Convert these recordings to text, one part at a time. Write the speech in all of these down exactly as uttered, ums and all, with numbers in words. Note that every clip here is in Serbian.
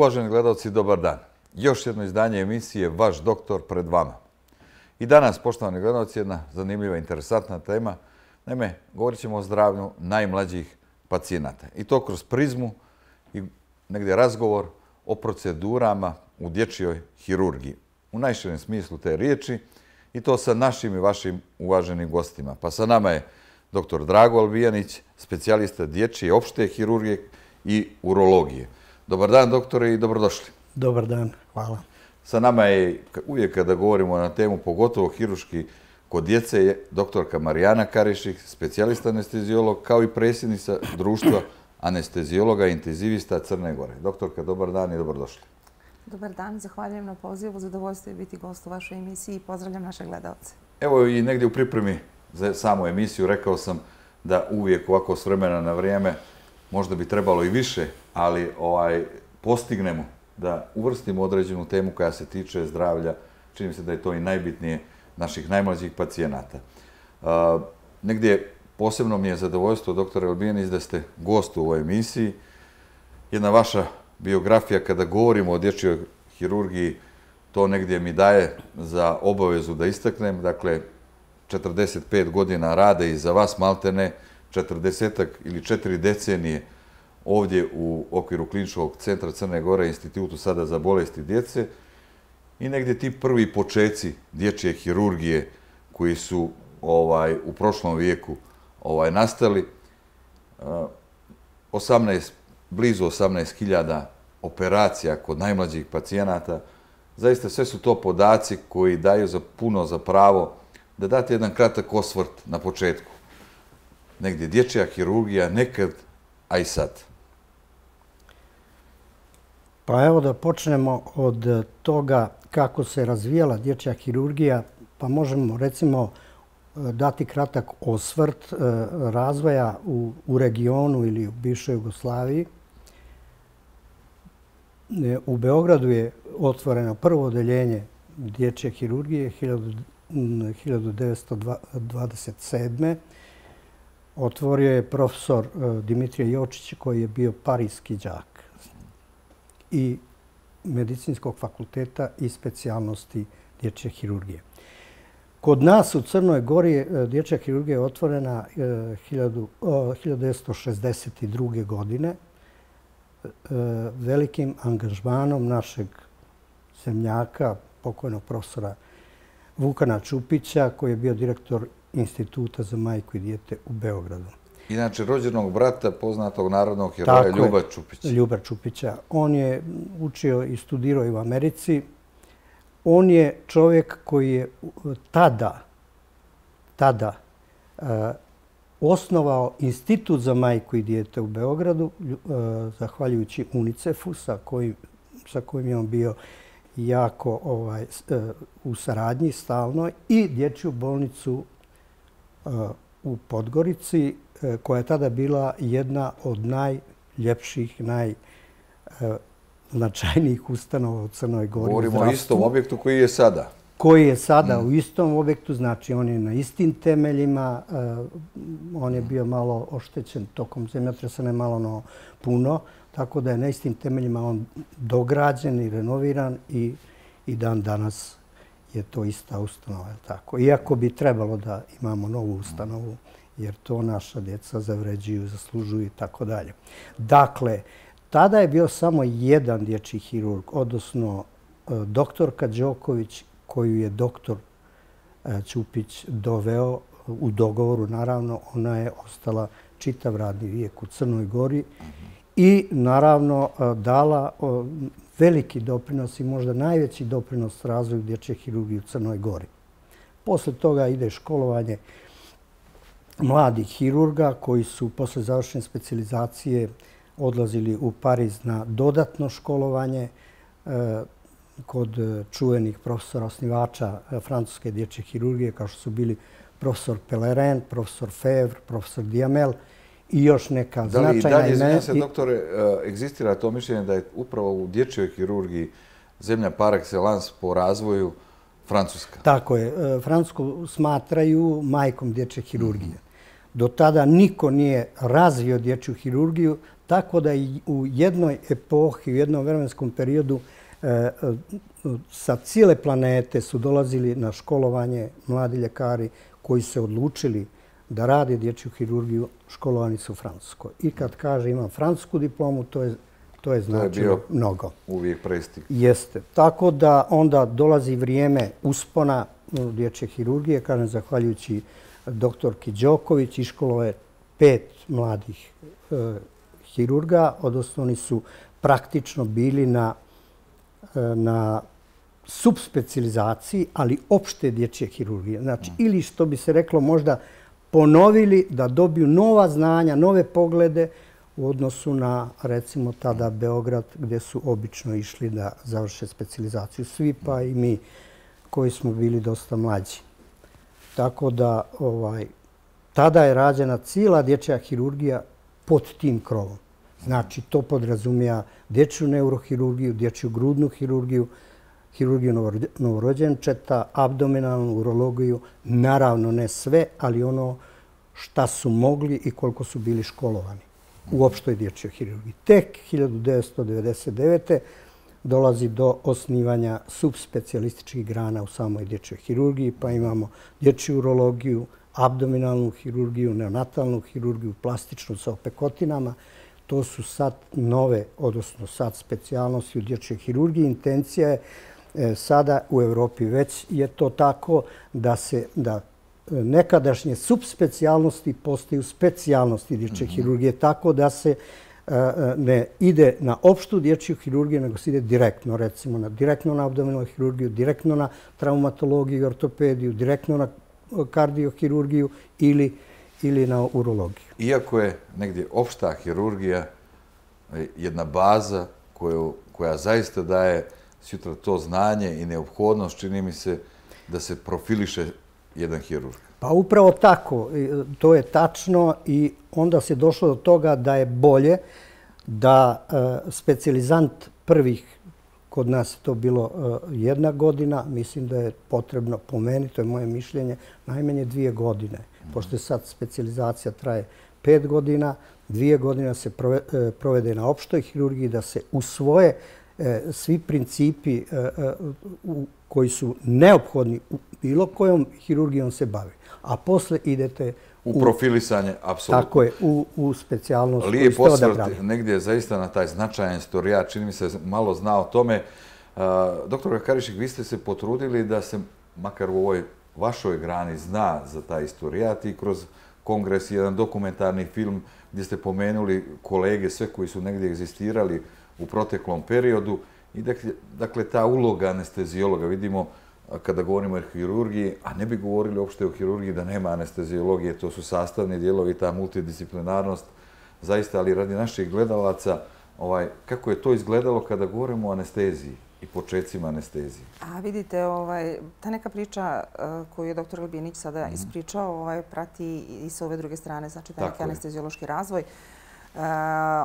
Uvaženi gledalci, dobar dan. Još jedno izdanje emisije Vaš doktor pred vama. I danas, poštovani gledalci, jedna zanimljiva, interesantna tema. Naime, govorit ćemo o zdravlju najmlađih pacijenata. I to kroz prizmu i negdje razgovor o procedurama u dječjoj hirurgiji. U najširem smislu te riječi i to sa našim i vašim uvaženim gostima. Pa sa nama je doktor Drago Albijanić, specijalista dječje opšte hirurgije i urologije. Dobar dan, doktore, i dobrodošli. Dobar dan, hvala. Sa nama je, uvijek kada govorimo na temu, pogotovo hirurški kod djece, je doktorka Marijana Karišik, specijalista anestezijolog, kao i predsjednica društva anestezijologa i intenzivista Crne Gore. Doktorka, dobar dan i dobrodošli. Dobar dan, zahvaljujem na pozivu, zadovoljstvo je biti gost u vašoj emisiji i pozdravljam naše gledalce. Evo i negdje u pripremi za samu emisiju rekao sam da uvijek ovako s vremena na vrijeme, možda bi trebalo i više, ali ovaj, postignemo da uvrstimo određenu temu koja se tiče zdravlja. Čini mi se da je to i najbitnije naših najmlađih pacijenata. Uh, negdje posebno mi je zadovoljstvo, doktore Albijanić, da ste gost u ovoj emisiji. Jedna vaša biografija, kada govorimo o dječjoj hirurgiji, to negdje mi daje za obavezu da istaknem. Dakle, četrdeset pet godina rade i za vas maltene, četrdesetak ili četiri decenije ovdje u okviru Kliničkog centra Crne Gore, Institutu sada za bolesti djece, i negdje ti prvi počeci dječje hirurgije koji su ovaj, u prošlom vijeku ovaj, nastali, osamnaest, blizu osamnaest hiljada operacija kod najmlađih pacijenata. Zaista sve su to podaci koji daju za puno za pravo da date jedan kratak osvrt na početku. Negdje dječja hirurgija nekad, a i sad. Pa evo da počnemo od toga kako se razvijala dječja hirurgija, pa možemo recimo dati kratak osvrt razvoja u, u regionu ili u bivšoj Jugoslaviji. U Beogradu je otvoreno prvo odeljenje dječje hirurgije hiljadu devetsto dvadeset sedme. Otvorio je profesor Dimitrije Jočić, koji je bio parijski đak i medicinskog fakulteta i specijalnosti dječje hirurgije. Kod nas u Crnoj Gori dječja hirurgija je otvorena hiljadu devetsto šezdeset druge. godine velikim angažmanom našeg zemljaka, pokojnog profesora Vukana Čupića, koji je bio direktor Instituta za majku i dijete u Beogradu. Inače, rođenog brata poznatog narodnog heroja Ljuba Čupića. Ljuba Čupića. On je učio i studirao i u Americi. On je čovjek koji je tada, tada uh, osnovao Institut za majku i dijete u Beogradu, uh, zahvaljujući UNICEF-u, sa kojim, sa kojim je on bio jako ovaj, uh, u saradnji stalno, i dječju bolnicu uh, u Podgorici, koja je tada bila jedna od najljepših, najznačajnijih ustanova u Crnoj Gori. Govorimo o istom objektu koji je sada. Koji je sada mm. u istom objektu, znači on je na istim temeljima, on je bio malo oštećen tokom zemljotresa, ne malo, no puno, tako da je na istim temeljima on dograđen i renoviran i, i dan danas je to ista ustanova. Tako. Iako bi trebalo da imamo novu ustanovu, jer to naša djeca zavređuju, zaslužuju i tako dalje. Dakle, tada je bio samo jedan dječji hirurg, odnosno doktorka Đoković, koju je doktor Ćupić doveo u dogovoru. Naravno, ona je ostala čitav radni vijek u Crnoj Gori i naravno dala veliki doprinos i možda najveći doprinos razvoju dječje hirurgije u Crnoj Gori. Posle toga ide školovanje mladih hirurga koji su posle završene specijalizacije odlazili u Pariz na dodatno školovanje kod čuvenih profesora osnivača francuske dječje hirurgije, kao što su bili profesor Pellerin, profesor Fevre, profesor Diamel i još neka značajna imena. Da li i dalje, izvinjam se, doktore, egzistira to mišljenje da je upravo u dječjoj hirurgiji zemlja par excellence po razvoju Francuska? Tako je. Francusku smatraju majkom dječje hirurgije. Do tada niko nije razvio dječju hirurgiju tako da i u jednoj epohi, u jednom vremenskom periodu sa cijele planete su dolazili na školovanje mladi ljekari koji se odlučili da rade dječju hirurgiju, školovani su u Francuskoj. I kad kaže imam francusku diplomu, to je to je značilo mnogo. Uvijek prestig. Jeste. Tako da onda dolazi vrijeme uspona dječje hirurgije, kažem, zahvaljujući doktorki Đoković, iškolove je pet mladih e, hirurga, odnosno oni su praktično bili na, na subspecializaciji, ali opšte dječje hirurgije. Znači, mm. ili što bi se reklo možda ponovili da dobiju nova znanja, nove poglede u odnosu na, recimo, tada Beograd, gdje su obično išli da završe specijalizaciju. Svi, pa i mi koji smo bili dosta mlađi. Tako da, ovaj, tada je rađena cijela dječja hirurgija pod tim krovom. Znači, to podrazumija dječju neurohirurgiju, dječju grudnu hirurgiju, hirurgiju novorođenčeta, abdominalnu urologiju, naravno ne sve, ali ono šta su mogli i koliko su bili školovani u opštoj dječjoj hirurgiji. Tek hiljadu devetsto devedeset devete. dolazi do osnivanja subspecijalističkih grana u samoj dječjoj hirurgiji, pa imamo dječju urologiju, abdominalnu hirurgiju, neonatalnu hirurgiju, plastičnu sa opekotinama. To su sad nove, odnosno sad specijalnosti u dječjoj hirurgiji. Intencija je sada u Evropi već je to tako da se da nekadašnje subspecijalnosti postaju specijalnosti dječje mm-hmm. hirurgije, tako da se ne ide na opštu dječju hirurgiju, nego se ide direktno, recimo, na, direktno na abdominalnu hirurgiju, direktno na traumatologiju i ortopediju, direktno na kardiohirurgiju ili, ili na urologiju. Iako je negdje opšta hirurgija jedna baza koju, koja zaista daje sutra to znanje i neophodnost, čini mi se da se profiliše jedan hirurg. Pa upravo tako, to je tačno i onda se došlo do toga da je bolje da specijalizant prvih, kod nas je to bilo jedna godina, mislim da je potrebno po meni, to je moje mišljenje, najmanje dvije godine. Pošto je sad specijalizacija traje pet godina, dvije godine se provede na opštoj hirurgiji, da se usvoje svi principi koji su neophodni u bilo kojom hirurgijom se bavi. A posle idete u, u profilisanje, apsolutno. Tako je, u, u specijalnost. Lijep osvrt negdje zaista na taj značajan istorijat, čini mi se malo zna o tome. Uh, doktor Karišik, vi ste se potrudili da se, makar u ovoj vašoj grani, zna za taj istorijat i kroz kongres i jedan dokumentarni film gdje ste pomenuli kolege, sve koji su negdje egzistirali u proteklom periodu. I dakle, dakle, ta uloga anestezijologa, vidimo kada govorimo o hirurgiji, a ne bi govorili uopšte o hirurgiji da nema anestezijologije, to su sastavni dijelovi, ta multidisciplinarnost, zaista, ali radi naših gledalaca, ovaj, kako je to izgledalo kada govorimo o anesteziji i početcima anestezije? A vidite, ovaj, ta neka priča uh, koju je doktor Albijanić sada mm-hmm. ispričao, ovaj, prati i sa ove druge strane, znači taj neki anestezijološki razvoj. Uh,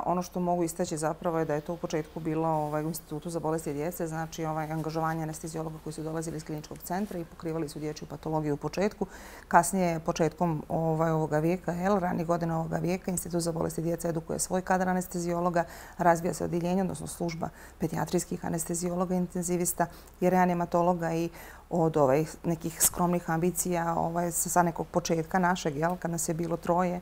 ono što mogu istaći zapravo je da je to u početku bilo ovaj, u Institutu za bolesti djece, znači ovaj, angažovanje anestezijologa koji su dolazili iz kliničkog centra i pokrivali su dječju patologiju u početku. Kasnije, početkom ovaj, ovoga vijeka, jel, ranih godina ovoga vijeka, Institut za bolesti djece edukuje svoj kadar anestezijologa, razvija se odjeljenje, odnosno služba pedijatrijskih anestezijologa, intenzivista i reanimatologa i od ovaj, nekih skromnih ambicija ovaj, sa nekog početka našeg, jel, kad nas je bilo troje,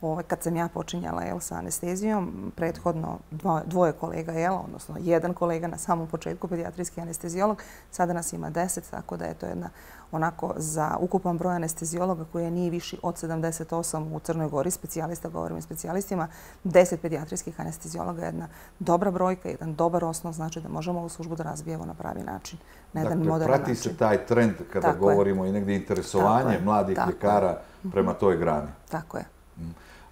Ovaj, kad sam ja počinjala jel, sa anestezijom, prethodno dvo, dvoje kolega, jel, odnosno jedan kolega na samom početku, pedijatrijski anestezijolog, sada nas ima deset, tako da je to jedna onako za ukupan broj anestezijologa koji nije viši od sedamdeset osam u Crnoj Gori, specijalista, govorim i specijalistima, deset pedijatrijskih anestezijologa je jedna dobra brojka, jedan dobar osnov, znači da možemo ovu službu da razvijemo na pravi način, na jedan dakle, moderan prati način. se taj trend kada tako govorimo je. I negdje interesovanje tako mladih tako ljekara je. Prema toj grani. Tako je.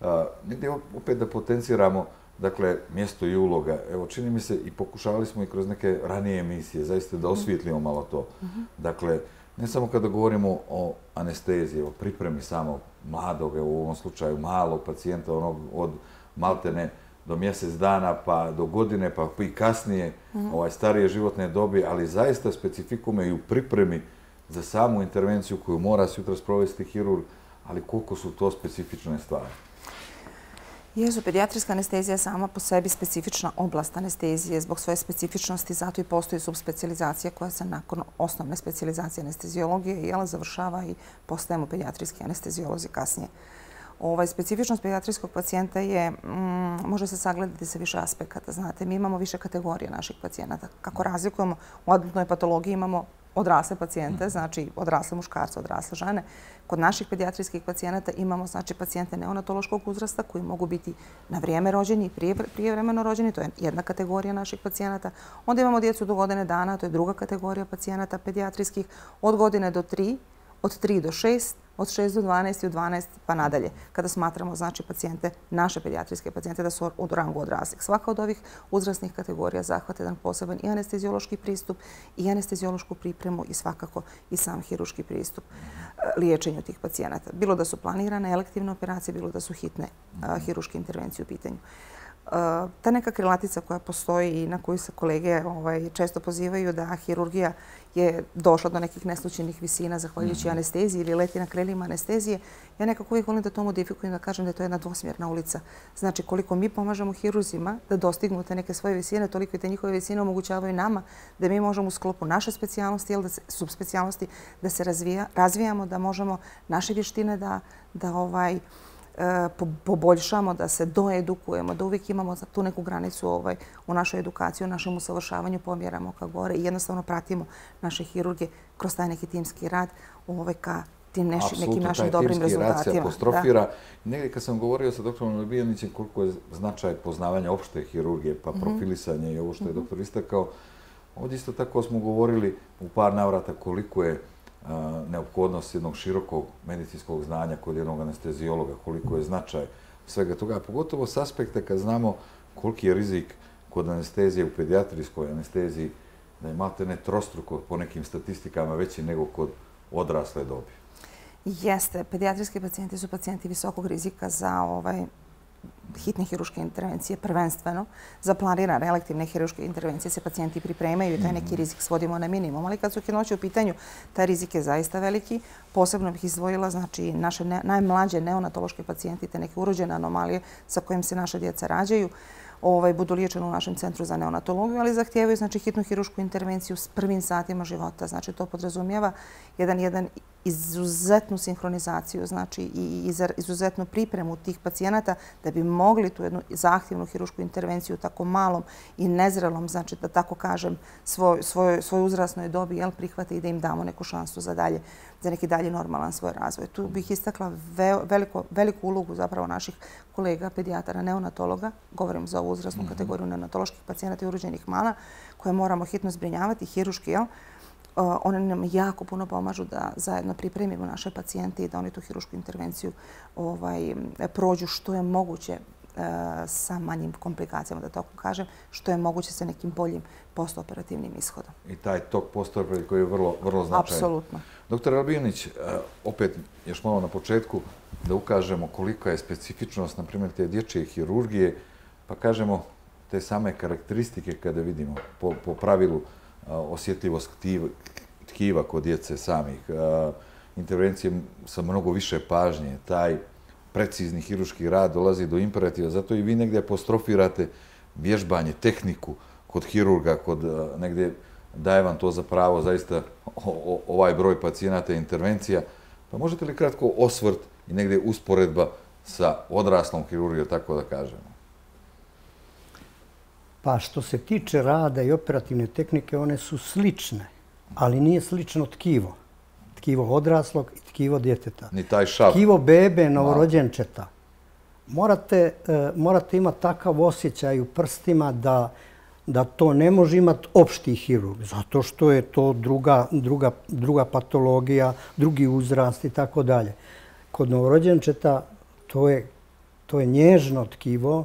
Uh, negdje opet da potenciramo dakle, mjesto i uloga. Evo, čini mi se i pokušavali smo i kroz neke ranije emisije zaista da osvijetlimo malo to. Mm-hmm. Dakle, ne samo kada govorimo o anesteziji, o pripremi samog mladog, u ovom slučaju malog pacijenta, onog od maltene do mjesec dana, pa do godine, pa i kasnije, mm-hmm. ovaj, starije životne dobi, ali zaista specifikume i u pripremi za samu intervenciju koju mora sutra sprovesti hirurg, ali koliko su to specifične stvari? Jesu, pedijatrijska anestezija je sama po sebi specifična oblast anestezije. Zbog svoje specifičnosti zato i postoji subspecializacija koja se nakon osnovne specijalizacije anesteziologije završava i postajemo pedijatrijski anestezijolozi kasnije. Ovaj, specifičnost pedijatrijskog pacijenta je, mm, može se sagledati sa više aspekata. Znate, mi imamo više kategorije naših pacijenata. Kako razlikujemo, u adultnoj patologiji imamo odrasle pacijente, znači odrasle muškarce, odrasle žene. Kod naših pedijatrijskih pacijenata imamo znači pacijente neonatološkog uzrasta koji mogu biti na vrijeme rođeni i prije, prijevremeno rođeni, to je jedna kategorija naših pacijenata. Onda imamo djecu do godine dana, to je druga kategorija pacijenata pedijatrijskih, od godine do tri, od tri do šest, od šest do dvanaest i od dvanaest pa nadalje, kada smatramo znači pacijente, naše pedijatrijske pacijente da su u rangu odraslih. Svaka od ovih uzrasnih kategorija zahvata jedan poseban i anesteziološki pristup i anesteziološku pripremu i svakako i sam hirurški pristup liječenju tih pacijenata. Bilo da su planirane elektivne operacije, bilo da su hitne hirurške intervencije u pitanju. Ta neka krilatica koja postoji i na koju se kolege ovaj, često pozivaju da hirurgija je došla do nekih neslučajnih visina zahvaljujući anesteziji ili leti na krilima anestezije, ja nekako uvijek volim da to modifikujem, da kažem da je to jedna dvosmjerna ulica. Znači, koliko mi pomažemo hirurzima da dostignu te neke svoje visine, toliko i te njihove visine omogućavaju nama da mi možemo u sklopu naše specijalnosti ili da se, subspecijalnosti da se razvija, razvijamo, da možemo naše vještine da, da ovaj, poboljšamo, da se doedukujemo, da uvijek imamo tu neku granicu ovaj, u našoj edukaciji, u našem usavršavanju, pomjeramo ka gore i jednostavno pratimo naše hirurge kroz taj neki timski rad ovaj, ka tim neši, nekim našim dobrim rezultatima. Apsolutno, taj timski rad se apostrofira. Da. Negdje kad sam govorio sa doktorom Albijanićem koliko je značaj poznavanja opšte hirurgije, pa mm-hmm. profilisanje i ovo što je mm-hmm. doktor istakao, ovdje isto tako smo govorili u par navrata koliko je neophodnost jednog širokog medicinskog znanja kod jednog anestezijologa, koliko je značaj svega toga, a pogotovo s aspekta kad znamo koliki je rizik kod anestezije u pedijatrijskoj anesteziji, da je maltene trostruko po nekim statistikama veći nego kod odrasle dobi. Jeste, pedijatrijski pacijenti su pacijenti visokog rizika za ovaj hitne hirurške intervencije, prvenstveno. Za planirane elektivne hirurške intervencije se pacijenti pripremaju i taj neki rizik svodimo na minimum. Ali kad su hitnoće u pitanju, taj rizik je zaista veliki. Posebno bih izdvojila znači, naše ne, najmlađe neonatološke pacijente, te neke urođene anomalije sa kojim se naše djeca rađaju, ovaj, budu liječeni u našem centru za neonatologiju, ali zahtijevaju znači, hitnu hiruršku intervenciju s prvim satima života. Znači, to podrazumijeva jedan, jedan izuzetnu sinhronizaciju znači, i izuzetnu pripremu tih pacijenata da bi mogli tu jednu zahtjevnu hiruršku intervenciju u tako malom i nezrelom, znači da tako kažem, svoj, svoj, svoj uzrasnoj dobi jel, prihvate i da im damo neku šansu za, dalje, za neki dalje normalan svoj razvoj. Tu bih istakla ve, veliko, veliku ulogu zapravo naših kolega, pedijatara, neonatologa, govorim za ovu uzrasnu mm-hmm. kategoriju neonatoloških pacijenata i urođenih mana, koje moramo hitno zbrinjavati, hirurški, jel? One nam jako puno pomažu da zajedno pripremimo naše pacijente i da oni tu hiruršku intervenciju ovaj, prođu što je moguće e, sa manjim komplikacijama, da tako kažem, što je moguće sa nekim boljim postoperativnim ishodom. I taj tok postoperativni koji je vrlo, vrlo značajan. Apsolutno. Doktor Albijanić, opet još malo na početku da ukažemo kolika je specifičnost, na primjer, te dječje hirurgije, pa kažemo te same karakteristike kada vidimo po, po pravilu osjetljivost tkiva kod djece samih, intervencije sa mnogo više pažnje, taj precizni hirurški rad dolazi do imperativa, zato i vi negdje apostrofirate vježbanje, tehniku kod hirurga, kod negdje daje vam to za pravo, zaista ovaj broj pacijenata i intervencija. Pa možete li kratko osvrt i negdje usporedba sa odraslom hirurgijom, tako da kažemo? Pa što se tiče rada i operativne tehnike, one su slične, ali nije slično tkivo. Tkivo odraslog i tkivo djeteta. Ni taj šav. Tkivo bebe, novorođenčeta. Morate, morate imati takav osjećaj u prstima da, da to ne može imati opšti hirurg, zato što je to druga, druga, druga patologija, drugi uzrast i tako dalje. Kod novorođenčeta to je, to je nježno tkivo,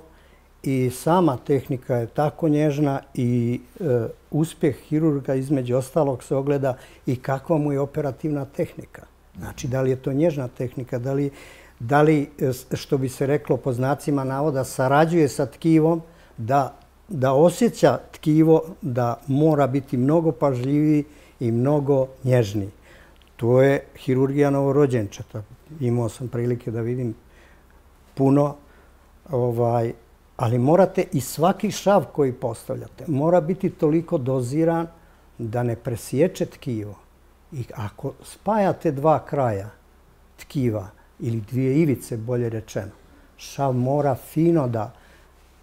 i sama tehnika je tako nježna i e, uspjeh hirurga između ostalog se ogleda i kakva mu je operativna tehnika. Znači, da li je to nježna tehnika, da li, da li što bi se reklo po znacima navoda, sarađuje sa tkivom, da, da osjeća tkivo da mora biti mnogo pažljiviji i mnogo nježniji. To je hirurgija novorođenčeta. Imao sam prilike da vidim puno ali morate i svaki šav koji postavljate mora biti toliko doziran da ne presječe tkivo. I ako spajate dva kraja tkiva ili dvije ivice, bolje rečeno, šav mora fino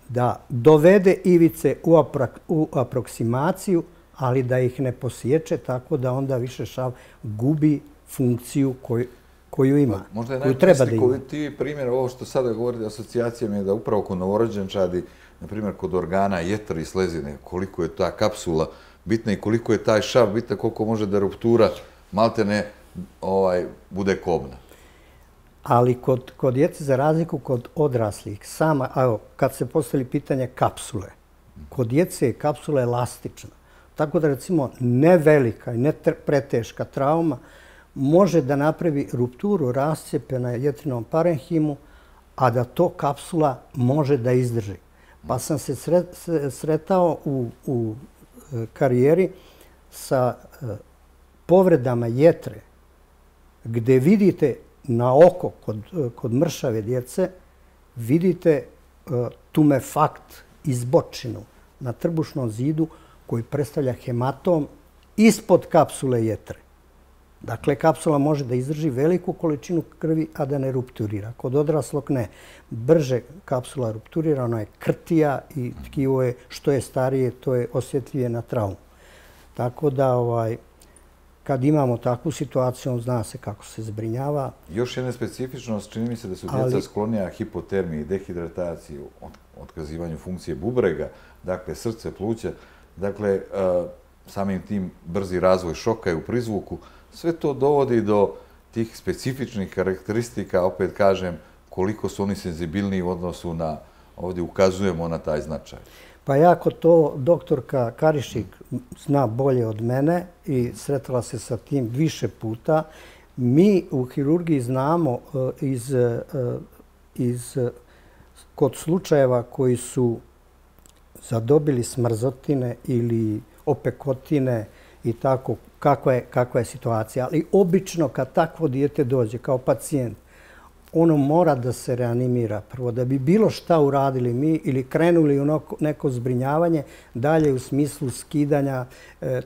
da dovede ivice u aproksimaciju, ali da ih ne posječe tako da onda više šav gubi funkciju koju ima, koju treba da ima. Možda je najslikovitiji primjer ovo što sada govorite asocijacijama je da upravo kod novorođenčadi, na primjer kod organa jetre i slezine, koliko je ta kapsula bitna i koliko je taj šav bitna, koliko može da ruptura malte ne bude kobna. Ali kod djece, za razliku kod odraslih, sama, evo, kad se postavili pitanje kapsule, kod djece je kapsula elastična. Tako da, recimo, ne velika i ne preteška trauma može da napravi rupturu, rascijepe na jetrinom parenhimu, a da to kapsula može da izdrži. Pa sam se sretao u karijeri sa povredama jetre, gde vidite na oko kod mršave djece, vidite tumefakt, izbočinu na trbušnom zidu koji predstavlja hematom ispod kapsule jetre. Dakle, kapsula može da izdrži veliku količinu krvi, a da ne rupturira. Kod odraslog ne. Brže kapsula rupturira, ona je krtija i tkivo je, što je starije, to je osjetljivije na traumu. Tako da, kad imamo takvu situaciju, zna se kako se zbrinjava. Još jedna specifičnost, čini mi se da su djeca sklonija hipotermiji, dehidrataciji, otkazivanju funkcije bubrega, dakle, srce, pluća, dakle, samim tim brzi razvoj šoka i u prizvuku, sve to dovodi do tih specifičnih karakteristika, opet kažem, koliko su oni senzibilniji u odnosu na, ovdje ukazujemo na taj značaj. Pa jako to doktorka Karišik zna bolje od mene i sretala se sa tim više puta. Mi u hirurgiji znamo iz kod slučajeva koji su zadobili smrzotine ili opekotine i tako, kakva je situacija. Ali obično kad takvo dijete dođe kao pacijent, ono mora da se reanimira prvo. Da bi bilo šta uradili mi ili krenuli u neko zbrinjavanje dalje u smislu skidanja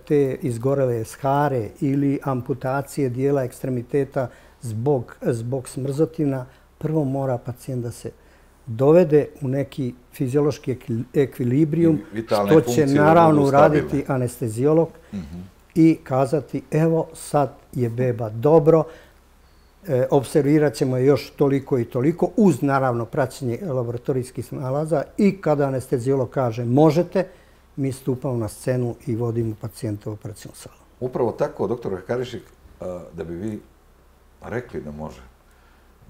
te izgorele share ili amputacije dijela ekstremiteta zbog smrzotina, prvo mora pacijent da se dovede u neki fiziološki ekvilibrijum, što će naravno uraditi anestezijolog i kazati evo sad je beba dobro, observirat ćemo je još toliko i toliko, uz naravno praćenje laboratorijskih nalaza i kada anestezijolog kaže možete, mi stupamo na scenu i vodimo pacijenta u operacijnu salu. Upravo tako, doktor Karišik, da bi vi rekli da može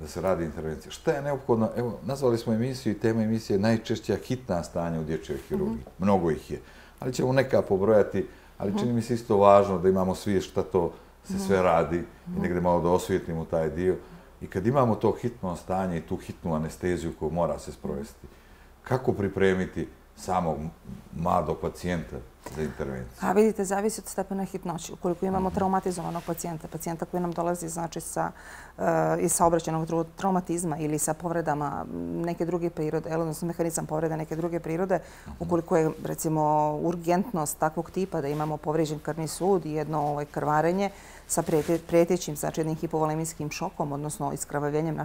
da se radi intervencija. Šta je neophodno? Evo, nazvali smo emisiju i tema emisije najčešća hitna stanja u dječjoj hirurgiji. Mnogo ih je. Ali ćemo neka pobrojati, ali čini mi se isto važno da imamo svijest šta to se sve radi i negdje malo da osvijetlimo taj dio. I kad imamo to hitno stanje i tu hitnu anesteziju koju mora se sprovesti, kako pripremiti samog mladog pacijenta za intervenciju? A vidite, zavisi od stepena hitnoće. Ukoliko imamo traumatizovanog pacijenta, pacijenta koji nam dolazi znači iz saobraćajnog traumatizma ili sa povredama neke druge prirode, odnosno mehanizam povrede neke druge prirode, ukoliko je recimo urgentnost takvog tipa da imamo povređen krvni sud i jedno krvarenje sa prijetećim, znači jednim hipovolemijskim šokom, odnosno iskrvavljenjem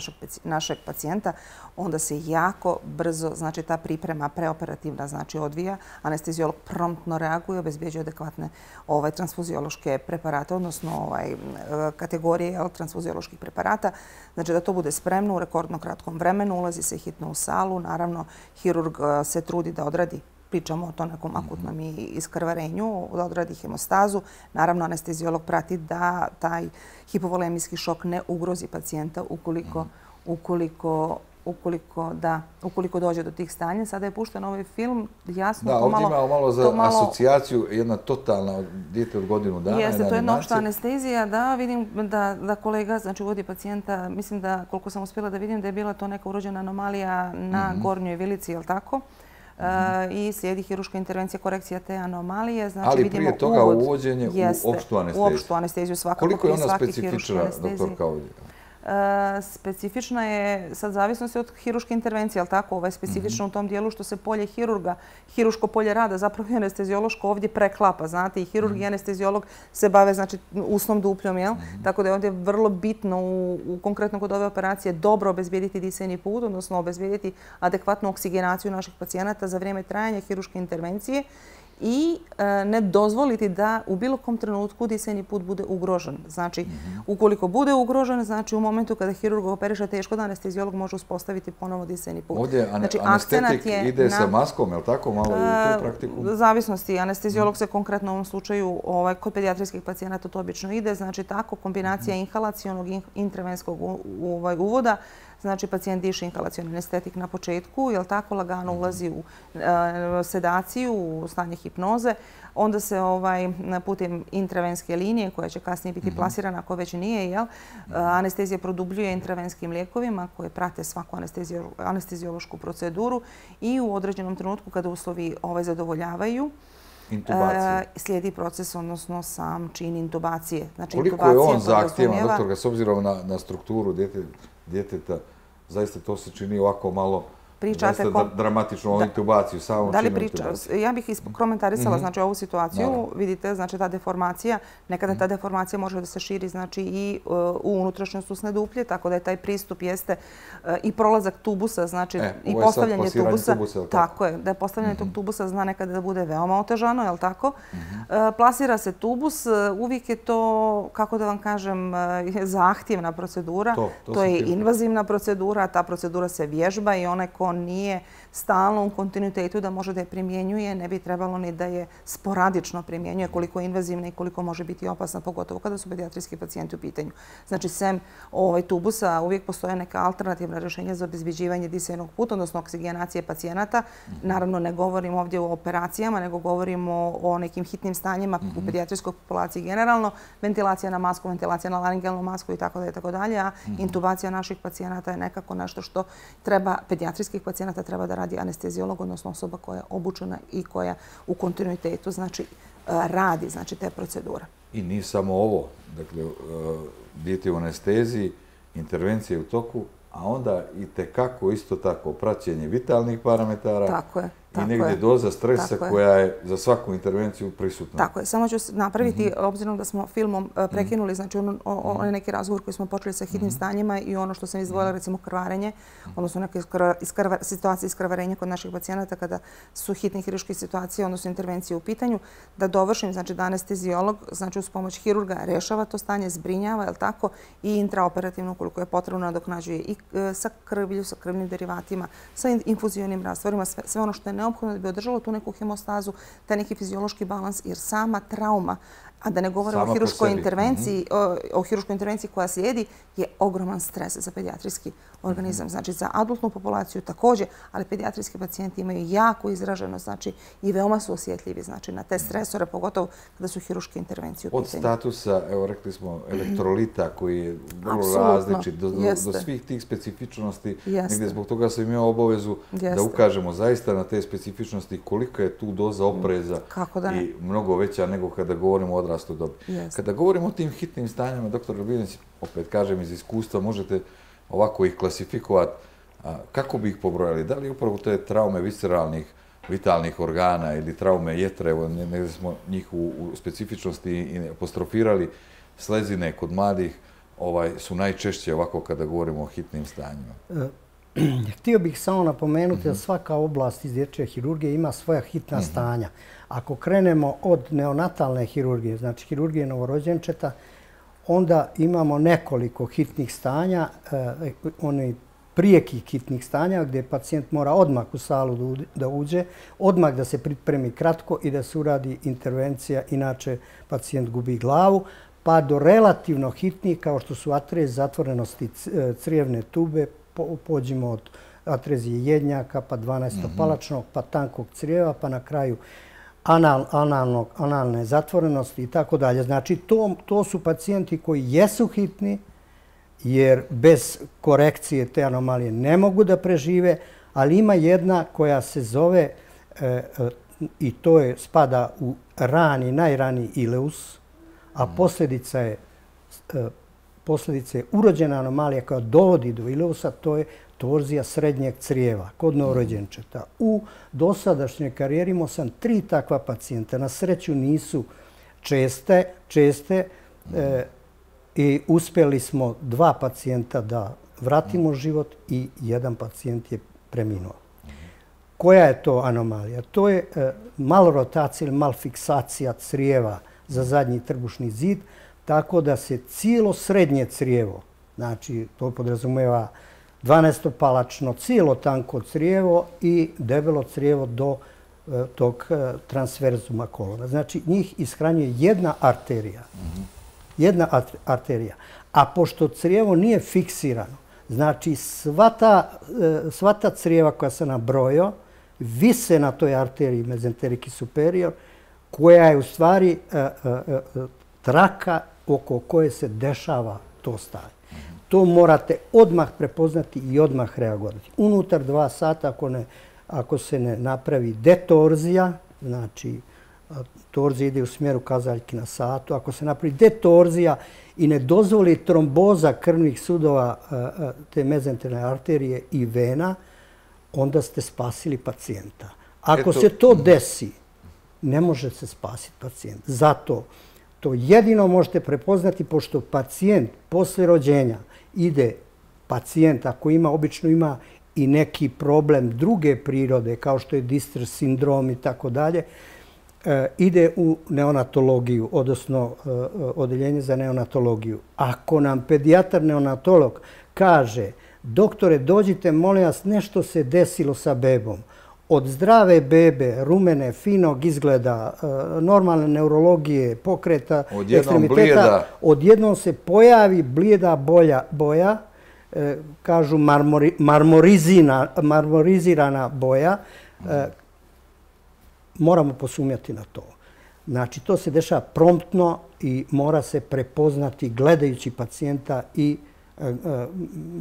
našeg pacijenta, onda se jako brzo, znači ta priprema preoperativna, znači odvija, anestezijolog promptno reaguje, obezbjeđuje adekvatne transfuziološke preparate, odnosno kategorije transfuzioloških preparata, znači da to bude spremno u rekordno kratkom vremenu, ulazi se hitno u salu, naravno hirurg se trudi da odradi, pričamo o to nekom akutnom iskrvarenju, da odradi hemostazu. Naravno, anestezijolog prati da taj hipovolemijski šok ne ugrozi pacijenta ukoliko dođe do tih stanja. Sada je pušten ovaj film, jasno. Da, ovdje imamo malo za asocijaciju, jedna totalna dijete od godinu dana. Jeste, to je jedna opšta anestezija. Da, vidim da kolega, znači uvodi pacijenta, mislim da koliko sam uspjela da vidim da je bila to neka urođena anomalija na gornjoj vilici, je li tako? I slijedi hiruška intervencija, korekcija te anomalije. Ali prije toga uvođenje u opštu anesteziju. U opštu anesteziju svakako. Koliko je ona specifična, doktorka, ovdje? specifična je, sad zavisnosti od hiruške intervencije, ali tako, ovo je specifično u tom dijelu što se polje hirurga, hiruško polje rada, zapravo i anesteziološko ovdje preklapa, znate, i hirurg i anesteziolog se bave, znači, usnom dupljom, jel? Tako da je ovdje vrlo bitno u konkretno kod ove operacije dobro obezbijediti disajni put, odnosno obezbijediti adekvatnu oksigenaciju naših pacijenata za vrijeme trajanja hiruške intervencije i ne dozvoliti da u bilo kom trenutku disajni put bude ugrožen. Znači, ukoliko bude ugrožen, znači u momentu kada hirurg operiše teško, da anesteziolog može uspostaviti ponovo disajni put. Ovdje anestetik ide sa maskom, je li tako malo u tu praktiku? Zavisnosti. Anesteziolog se konkretno u ovom slučaju kod pedijatrijskih pacijenata to obično ide. Znači, tako kombinacija inhalacionog i intravenskog uvoda. Znači, pacijent diše inhalacioni anestetik na početku, jer tako lagano ulazi u sedaciju, u stanje hipnoze. Onda se putem intravenske linije, koja će kasnije biti plasirana, ako već nije, anestezija produbljuje intravenskim lijekovima koje prate svaku anesteziološku proceduru i u određenom trenutku kada uslovi zadovoljavaju, slijedi proces, odnosno sam čin intubacije. Koliko je on zahtjevan, doktorka, s obzirom na strukturu djeteta, zaista to se čini ovako malo dramatično, ovu intubaciju, samom činu intubacije. Ja bih komentarisala ovu situaciju. Vidite, znači ta deformacija, nekada ta deformacija može da se širi i u unutrašnjost usne duplje, tako da je taj pristup jeste i prolazak tubusa, znači i postavljanje tubusa. Tako je, da je postavljanje tog tubusa zna nekada da bude veoma otežano, je li tako? Plasira se tubus, uvijek je to, kako da vam kažem, zahtjevna procedura. To je invazivna procedura, ta procedura se vježba i onaj ko nije stalno u kontinuitetu da može da je primjenjuje, ne bi trebalo ni da je sporadično primjenjuje, koliko je invazivna i koliko može biti opasna, pogotovo kada su pedijatrijski pacijenti u pitanju. Znači, sem tubusa uvijek postoje neka alternativna rješenja za obezbeđivanje disajnog puta, odnosno oksigenacije pacijenata. Naravno, ne govorimo ovdje o operacijama, nego govorimo o nekim hitnim stanjima u pedijatrijskoj populaciji generalno. Ventilacija na masku, ventilacija na laringelnu masku i tako dalje, tako dalje, a intubacija naših pacijenata je nekako nešto što treba, pedijatrijskih pacijenata treba da radi anesteziolog, odnosno osoba koja je obučena i koja u kontinuitetu radi te procedure. I nije samo ovo, dakle, dijete u anesteziji, intervencije u toku, a onda i tekako isto tako praćenje vitalnih parametara. Tako je. I negdje doza stresa koja je za svaku intervenciju prisutna. Tako je. Samo ću napraviti, obzirom da smo filmom prekinuli, znači onaj neki razgovor koji smo počeli sa hitnim stanjima i ono što sam izdvojila, recimo krvarenje, odnosno neke situacije iskrvarenja kod naših pacijenata kada su hitne hiruške situacije, odnosno intervencije u pitanju, da dovršim, znači da anesteziolog, znači uz pomoć hirurga rešava to stanje, zbrinjava, je li tako, i intraoperativno, koliko je potrebno, nadoknađuje i sa krvlju, sa krvnim derivatima, sa infuzionim rastvorima, sve ono što je neophodno da bi održalo tu neku hemostazu, taj neki fiziološki balans, jer sama trauma, a da ne govorimo o hiruškoj intervenciji, o hiruškoj intervenciji koja slijedi, je ogroman stres za pedijatrijski organizam. Znači, za adultnu populaciju također, ali pedijatrijski pacijenti imaju jako izraženo, znači, i veoma su osjetljivi, znači, na te stresore, pogotovo kada su hiruške intervencije u pitanju. Od statusa, evo, rekli smo, elektrolita koji je vrlo različit, do svih tih specifičnosti, negdje zbog toga sam imao obavezu da ukažemo zaista na te specifičnosti, kolika je tu doza opreza i mnogo veća nego kada govorimo o odrastu dobi. Kada govorimo o tim hitnim stanjama, doktor Albinić, opet kažem iz iskustva, možete ovako ih klasifikovati. Kako bi ih pobrojali? Da li upravo te traume visceralnih, vitalnih organa ili traume jetre, evo negdje smo njih u specifičnosti apostrofirali, slezine kod mladih su najčešće ovako kada govorimo o hitnim stanjima? Htio bih samo napomenuti da svaka oblast iz dječje hirurgije ima svoja hitna stanja. Ako krenemo od neonatalne hirurgije, znači hirurgije novorođenčeta, onda imamo nekoliko hitnih stanja, onih prijekih hitnih stanja gdje pacijent mora odmah u salu da uđe, odmah da se pripremi kratko i da se uradi intervencija, inače pacijent gubi glavu, pa do relativno hitnih kao što su atrez zatvorenosti crijevne tube, pođimo od atrezije jednjaka, pa dvanaestopalačnog, pa tankog crijeva, pa na kraju analne zatvorenosti i tako dalje. Znači, to su pacijenti koji jesu hitni, jer bez korekcije te anomalije ne mogu da prežive, ali ima jedna koja se zove, i to je spada u rani, najraniji ileus, a posljedica je posljedice urođena anomalija koja dovodi do ileosa, to je torzija srednjeg crijeva kod novorođenčeta. U dosadašnjoj karijeri imao sam tri takva pacijenta. Na sreću nisu česte, česte e, i uspjeli smo dva pacijenta da vratimo život i jedan pacijent je preminuo. Koja je to anomalija? To je e, malorotacija ili malfiksacija crijeva za zadnji trbušni zid, tako da se cijelo srednje crijevo, znači to podrazumijeva dvanaestopalačno, cijelo tanko crijevo i debelo crijevo do e, tog e, transverzuma kolona. Znači njih ishranjuje jedna arterija. Jedna arterija. A pošto crijevo nije fiksirano, znači sva ta, e, sva ta crijeva koja se nabrojio vise na toj arteriji mezenteriki superior, koja je u stvari e, e, e, traka oko koje se dešava to stanje. To morate odmah prepoznati i odmah reagovati. Unutar dva sata, ako, ne, ako se ne napravi detorzija, znači torzija ide u smjeru kazaljki na satu, ako se napravi detorzija i ne dozvoli tromboza krvnih sudova te mezenterne arterije i vena, onda ste spasili pacijenta. Ako Eto. se to desi, ne može se spasiti pacijent. Zato to jedino možete prepoznati, pošto pacijent posle rođenja ide, pacijent ako ima, obično ima i neki problem druge prirode, kao što je distress sindrom i tako dalje, ide u neonatologiju, odnosno odeljenje za neonatologiju. Ako nam pedijatar neonatolog kaže, doktore, dođite, molim vas, nešto se desilo sa bebom. Od zdrave bebe, rumene, finog izgleda, normalne neurologije, pokreta, ekstremiteta, odjednom se pojavi blijeda boja, boja, kažu marmori, marmorizina, marmorizirana boja, moramo posumnjati na to. Znači, to se dešava promptno i mora se prepoznati gledajući pacijenta i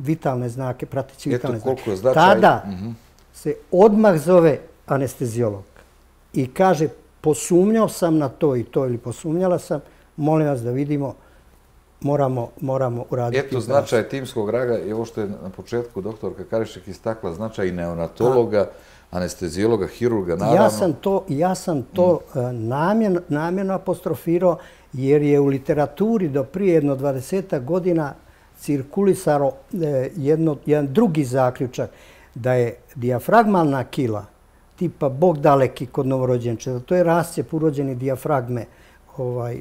vitalne znake, prateći vitalne znake. Tada se odmah zove anestezijolog i kaže, posumnjao sam na to i to ili posumnjala sam, molim vas da vidimo, moramo, moramo uraditi. Eto značaj timskog rada i ovo što je na početku doktorka Karišek istakla, značaj i neonatologa, anestezijologa, hirurga, naravno. Ja sam to, ja sam to mm. namjerno, namjerno apostrofirao jer je u literaturi do prije jedno dvadesetak godina cirkulisaro jedno, jedan drugi zaključak, da je dijafragmalna kila, tipa Bog daleki kod novorođenčeta, to je rascijep urođene dijafragme ovaj,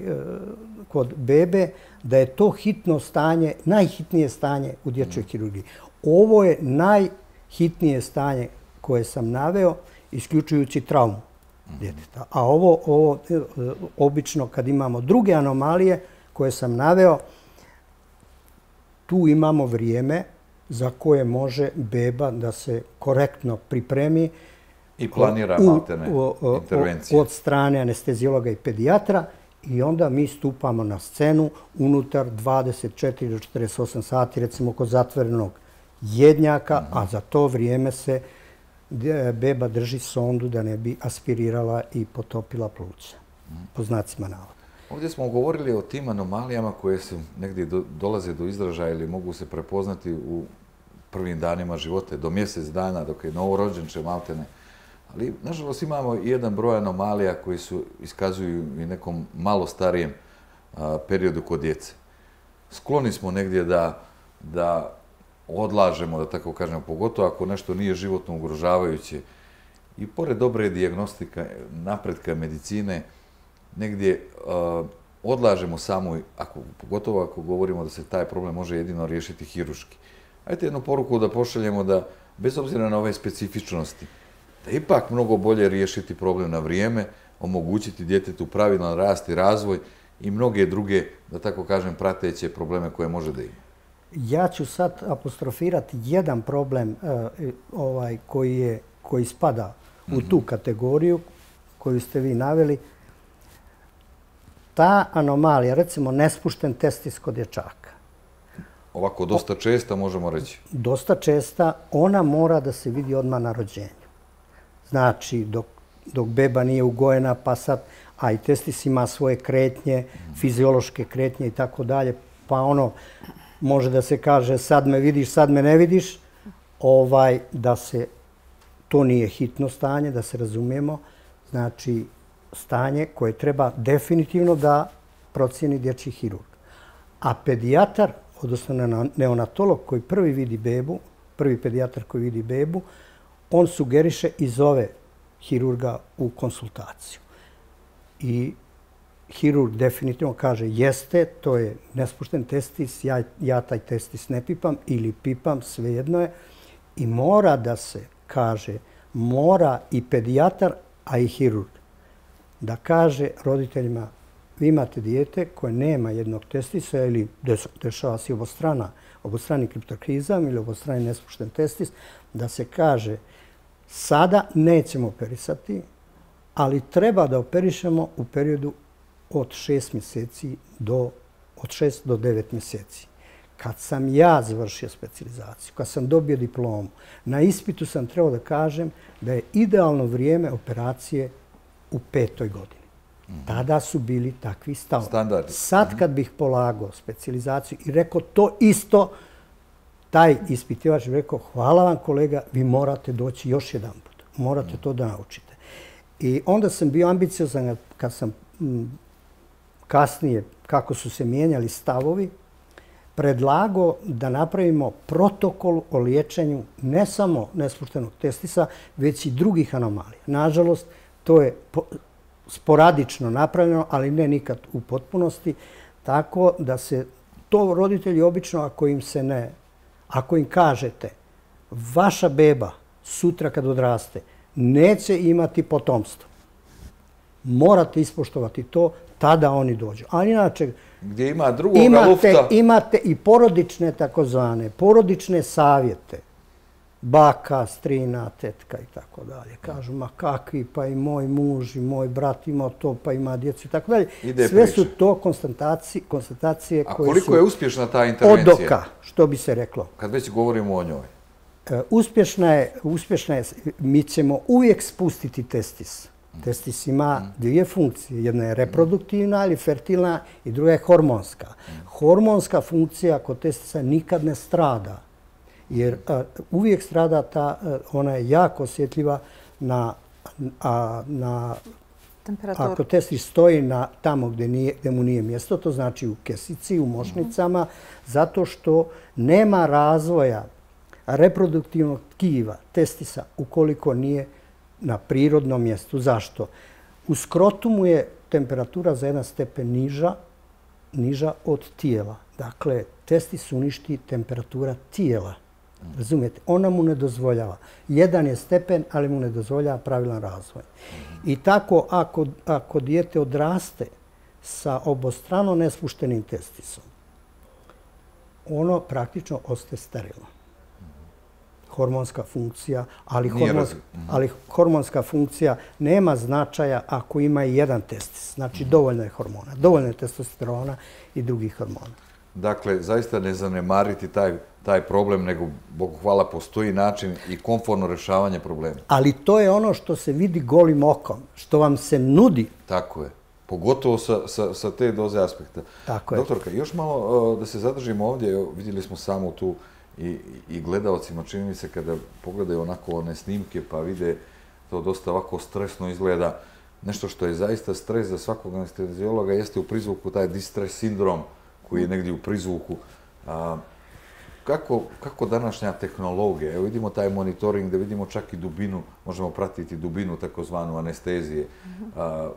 kod bebe, da je to hitno stanje, najhitnije stanje u dječjoj kirurgiji. Ovo je najhitnije stanje koje sam naveo, isključujući traumu djeteta. A ovo, ovo obično kad imamo druge anomalije koje sam naveo, tu imamo vrijeme za koje može beba da se korektno pripremi i planira maltene intervencije od strane anestezijologa i pedijatra i onda mi stupamo na scenu unutar dvadeset četiri do četrdeset osam sati, recimo kod zatvorenog jednjaka, a za to vrijeme se beba drži sondu da ne bi aspirirala i potopila pluća, po znacima navoda. Ovdje smo govorili o tim anomalijama koje se negdje do, dolaze do izražaja ili mogu se prepoznati u prvim danima života, do mjesec dana, dok je novorođenče maltene. Ali, nažalost, imamo i jedan broj anomalija koji su iskazuju i nekom malo starijem a, periodu kod djece. Skloni smo negdje da, da odlažemo, da tako kažemo, pogotovo ako nešto nije životno ugrožavajuće. I pored dobre dijagnostika, napretka medicine, negdje uh, odlažemo samo, ako, pogotovo ako govorimo da se taj problem može jedino riješiti hiruški. Ajde jednu poruku da pošaljemo da, bez obzira na ove specifičnosti, da ipak mnogo bolje riješiti problem na vrijeme, omogućiti djetetu pravilan rast i razvoj i mnoge druge, da tako kažem, prateće probleme koje može da ima. Ja ću sad apostrofirati jedan problem uh, ovaj, koji, je, koji spada u mm-hmm. tu kategoriju koju ste vi naveli. Ta anomalija, recimo nespušten testis kod dječaka. Ovako, dosta česta, možemo reći. Dosta česta, ona mora da se vidi odmah na rođenju. Znači, dok, dok beba nije ugojena, pa sad, a i testis ima svoje kretnje, fiziološke kretnje i tako dalje, pa ono, može da se kaže sad me vidiš, sad me ne vidiš, ovaj, da se, to nije hitno stanje, da se razumijemo, znači stanje koje treba definitivno da procijeni dječji hirurg. A pedijatar, odnosno neonatolog koji prvi vidi bebu, prvi pedijatar koji vidi bebu, on sugeriše i zove hirurga u konsultaciju. I hirurg definitivno kaže jeste, to je nespušten testis, ja, ja taj testis ne pipam ili pipam, svejedno je. I mora da se kaže, mora i pedijatar, a i hirurg, da kaže roditeljima vi imate dijete koje nema jednog testisa ili dešava se obostrana, obostrani kriptorkizam ili obostrani nespušten testis, da se kaže sada nećemo operisati, ali treba da operišemo u periodu od šest mjeseci do, od šest do devet mjeseci. Kad sam ja završio specijalizaciju, kad sam dobio diplomu, na ispitu sam trebao da kažem da je idealno vrijeme operacije u petoj godini. Tada su bili takvi stavovi. Standardi. Sad kad bih polagao specijalizaciju i rekao to isto, taj ispitivač bi rekao hvala vam kolega, vi morate doći još jedan put. Morate to da naučite. I onda sam bio ambiciozan kad sam m, kasnije, kako su se mijenjali stavovi, predlagao da napravimo protokol o liječenju ne samo nespuštenog testisa, već i drugih anomalija. Nažalost, to je sporadično napravljeno, ali ne nikad u potpunosti, tako da se to roditelji obično, ako im se ne, ako im kažete vaša beba sutra kad odraste neće imati potomstvo, morate ispoštovati to, tada oni dođu. A inače, gdje ima drugoga imate, lufta. Imate i porodične takozvane, porodične savjete. Baka, strina, tetka i tako dalje. Kažu, ma kakvi, pa i moj muž i moj brat ima to, pa ima djecu i tako dalje. Sve su to konstatacije, konstatacije koje su... A koliko je uspješna ta intervencija? Od oka, što bi se reklo. Kad već govorimo o njoj. Uspješna je, uspješna je, mi ćemo uvijek spustiti testis. Testis ima dvije funkcije. Jedna je reproduktivna ili fertilna i druga je hormonska. Hormonska funkcija kod testisa nikad ne strada. Jer a, uvijek strada ta, ona je jako osjetljiva na, a, na temperaturu. Ako testis stoji na tamo gdje, nije, gdje mu nije mjesto, to znači u kesici, u mošnicama, mm-hmm. zato što nema razvoja reproduktivnog tkiva testisa ukoliko nije na prirodnom mjestu. Zašto? U skrotumu je temperatura za jedan stepen niža, niža od tijela. Dakle, testis uništi temperatura tijela. Razumijete? Ona mu ne dozvoljava. Jedan je stepen, ali mu ne dozvoljava pravilan razvoj. I tako, ako, ako dijete odraste sa obostrano nespuštenim testisom, ono praktično ostaje sterilno. Hormonska funkcija, ali, hormonska, ali hormonska funkcija nema značaja ako ima i jedan testis. Znači, dovoljno je hormona, dovoljno je testosterona i drugih hormona. Dakle, zaista ne zanemariti taj, taj problem, nego, Bogu hvala, postoji način i komfortno rješavanje problema. Ali to je ono što se vidi golim okom, što vam se nudi. Tako je. Pogotovo sa, sa, sa te doze aspekta. Tako je. Doktorka, još malo da se zadržimo ovdje. Vidjeli smo samo tu i, i gledalcima, čini mi se, kada pogledaju onako one snimke pa vide to dosta ovako stresno izgleda. Nešto što je zaista stres za svakog anesteziologa jeste u prizvuku taj distress sindrom koji je negdje u prizvuku. A, kako, kako današnja tehnologija, evo vidimo taj monitoring da vidimo čak i dubinu, možemo pratiti dubinu takozvanu anestezije. A,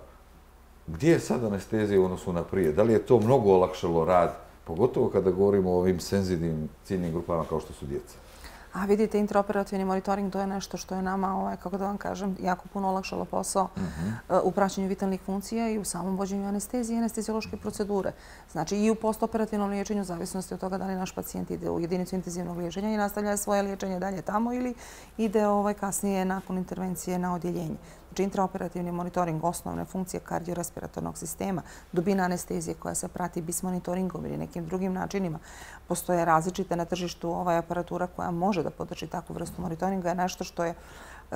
gdje je sad anestezija u odnosu na prije? Da li je to mnogo olakšalo rad, pogotovo kada govorimo o ovim senzitivnim ciljnim grupama kao što su djeca? A vidite, intraoperativni monitoring, to je nešto što je nama, ovaj, kako da vam kažem, jako puno olakšalo posao uh-huh. uh, u praćenju vitalnih funkcija i u samom vođenju anestezije i anesteziološke procedure. Znači i u postoperativnom liječenju, zavisnosti od toga da li naš pacijent ide u jedinicu intenzivnog liječenja i nastavlja svoje liječenje dalje tamo ili ide ovaj, kasnije nakon intervencije na odjeljenje. Znači intraoperativni monitoring, osnovne funkcije kardiorespiratornog sistema, dubina anestezije koja se prati bismonitoringom ili nekim drugim načinima. Postoje različite na tržištu ovaj aparatura koja može da podrži takvu vrstu monitoringa, je nešto što je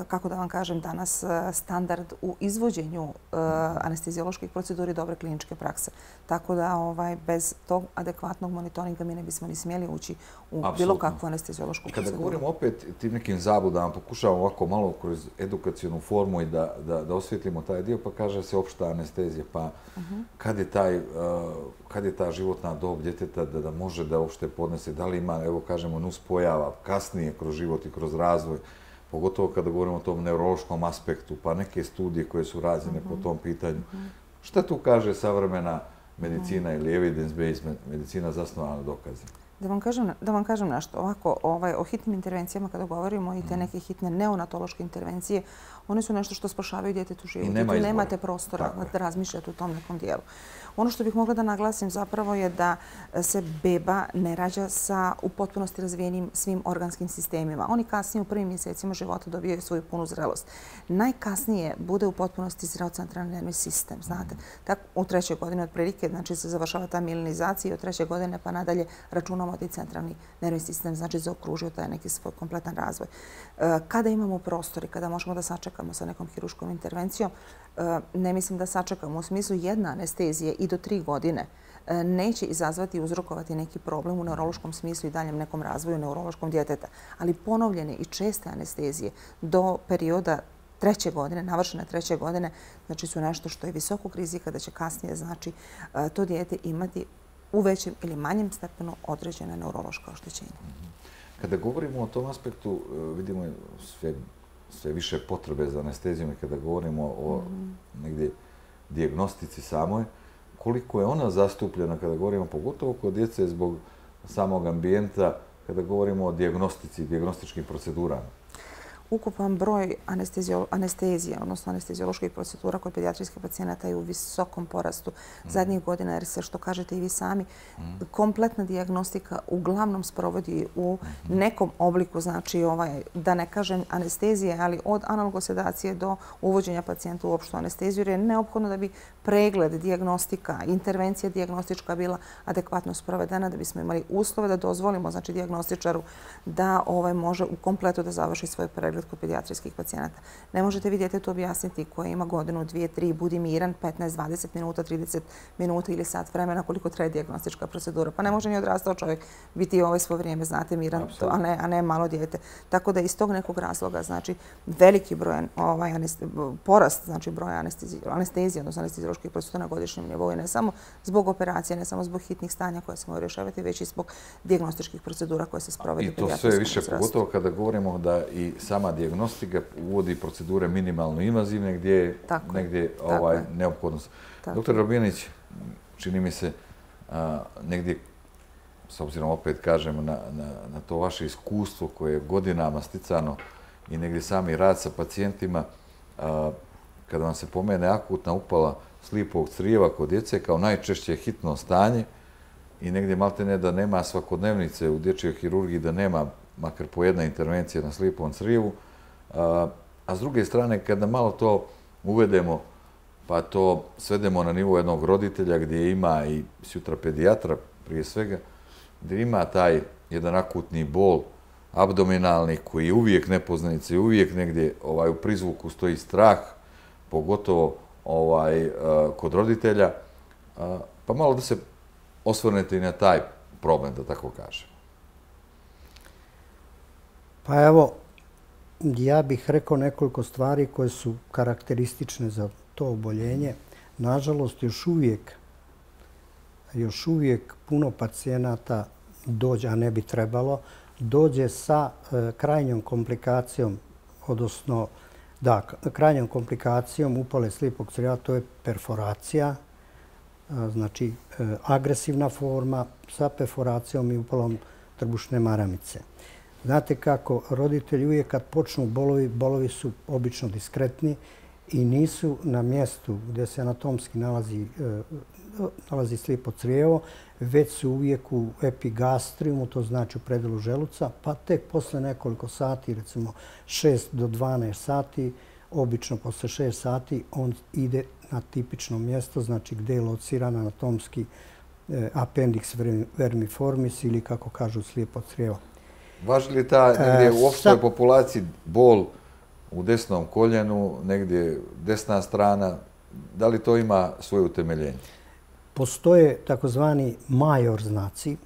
kako da vam kažem, danas standard u izvođenju anestezioloških procedura i dobre kliničke prakse. Tako da bez tog adekvatnog monitoringa mi ne bismo ni smjeli ući u bilo kakvu anesteziološku proceduru. Kada govorimo opet tim nekim zabludama, pokušavamo ovako malo kroz edukacijonu formu i da osvjetlimo taj dio, pa kaže se opšta anestezija. Pa kad je ta životna dob djeteta da može da uopšte podnese, da li ima, evo kažemo, nuspojava kasnije kroz život i kroz razvoj, pogotovo kada govorimo o tom neurološkom aspektu, pa neke studije koje su rađene po tom pitanju. Šta tu kaže savremena medicina ili evidence-based medicina zasnovana na dokazima? Da vam kažem nešto. Ovako, o hitnim intervencijama kada govorimo i te neke hitne neonatološke intervencije, one su nešto što spašavaju djetetu život. I tu nemate prostora da razmišljate u tom nekom dijelu. Ono što bih mogla da naglasim zapravo je da se beba ne rađa sa u potpunosti razvijenim svim organskim sistemima. Oni kasnije u prvim mjesecima života dobijaju svoju punu zrelost. Najkasnije bude u potpunosti zreo centralni nervni sistem. Znate, tako u trećoj godini otprilike, znači se završava ta milinizacija i od treće godine pa nadalje računamo da i centralni nervni sistem znači zaokružio taj neki svoj kompletan razvoj. Kada imamo prostor i kada možemo da sačekamo sa nekom hiruškom intervencijom, ne mislim da sačekamo u smislu jedna anestezije i do tri godine neće izazvati i uzrokovati neki problem u neurološkom smislu i daljem nekom razvoju neurološkom djeteta. Ali ponovljene i česte anestezije do perioda treće godine, navršene treće godine, znači su nešto što je visokog rizika da će kasnije znači to dijete imati u većem ili manjem stepenu određene neurološka oštećenja. Kada govorimo o tom aspektu, vidimo sve sve više potrebe za anestezijom i kada govorimo o negdje dijagnostici samoj, koliko je ona zastupljena kada govorimo pogotovo kod djece zbog samog ambijenta, kada govorimo o dijagnostici i dijagnostičkim procedurama? Ukupan broj anestezija, odnosno anestezioloških procedura kod pedijatrijskih pacijenata je u visokom porastu zadnjih godina, jer se, što kažete i vi sami, kompletna dijagnostika uglavnom sprovodi u nekom obliku, znači da ne kažem anestezije, ali od analgosedacije do uvođenja pacijenta u opštu anesteziju, jer je neophodno da bi pregled, dijagnostika, intervencija dijagnostička bila adekvatno sprovedena, da bismo imali uslove da dozvolimo znači dijagnostičaru da može u kompletu da završi svoj pregled kod pedijatrijskih pacijenata. Ne možete vi djetetu objasniti koje ima godinu, dvije, tri, budi miran, petnaest, dvadeset minuta, trideset minuta ili sat vremena koliko traje dijagnostička procedura. Pa ne može ni odrastao čovjek biti ovo svo vrijeme, znate, miran, a ne malo dijete. Tako da iz tog nekog razloga, znači, veliki broj, porast, znači, broja anestezije, odnosno anestezioloških procedura na godišnjem nivou je ne samo zbog operacije, ne samo zbog hitnih stanja koje se moraju rješavati, već i zbog dijagnostičkih procedura koje se sprovede. I to sve više, pogotovo kada govorimo da i sama dijagnostika uvodi procedure minimalno invazivne gdje je negdje neophodnost. Doktor Rabinić, čini mi se negdje, s obzirom opet kažem na to vaše iskustvo koje je godinama sticano i negdje sami rad sa pacijentima, kada vam se pomene akutna upala slipog crijeva kod djece kao najčešće hitno stanje i negdje maltene da nema svakodnevnice u dječjoj hirurgiji, da nema makar po jedna intervencija na slipom crijevu, a s druge strane kada malo to uvedemo pa to svedemo na nivo jednog roditelja gdje ima i sutra pedijatra prije svega, gdje ima taj jedan akutni bol abdominalni koji je uvijek nepoznanica i uvijek negdje u prizvuku stoji strah, pogotovo kod roditelja, pa malo da se osvrnete i na taj problem, da tako kažem. Pa evo, ja bih rekao nekoliko stvari koje su karakteristične za to oboljenje. Nažalost, još uvijek, još uvijek puno pacijenata dođe, a ne bi trebalo, dođe sa krajnjom komplikacijom, odnosno, da, krajnjom komplikacijom upale slipog crijeva, to je perforacija, znači agresivna forma sa perforacijom i upalom trbušne maramice. Znate kako, roditelji uvijek kad počnu bolovi, bolovi su obično diskretni i nisu na mjestu gdje se anatomski nalazi, nalazi slipo crijevo, već su uvijek u epigastriumu, to znači u predelu želuca, pa tek posle nekoliko sati, recimo šest do dvanaest sati, obično posle šest sati, on ide na tipično mjesto, znači gdje je lociran anatomski appendix vermiformis ili kako kažu slijepo crijevo. Važi li ta negdje u opštoj populaciji bol u desnom koljenu, negdje desna strana. Da li to ima svoje utemeljenje? Postoje takozvani major znaci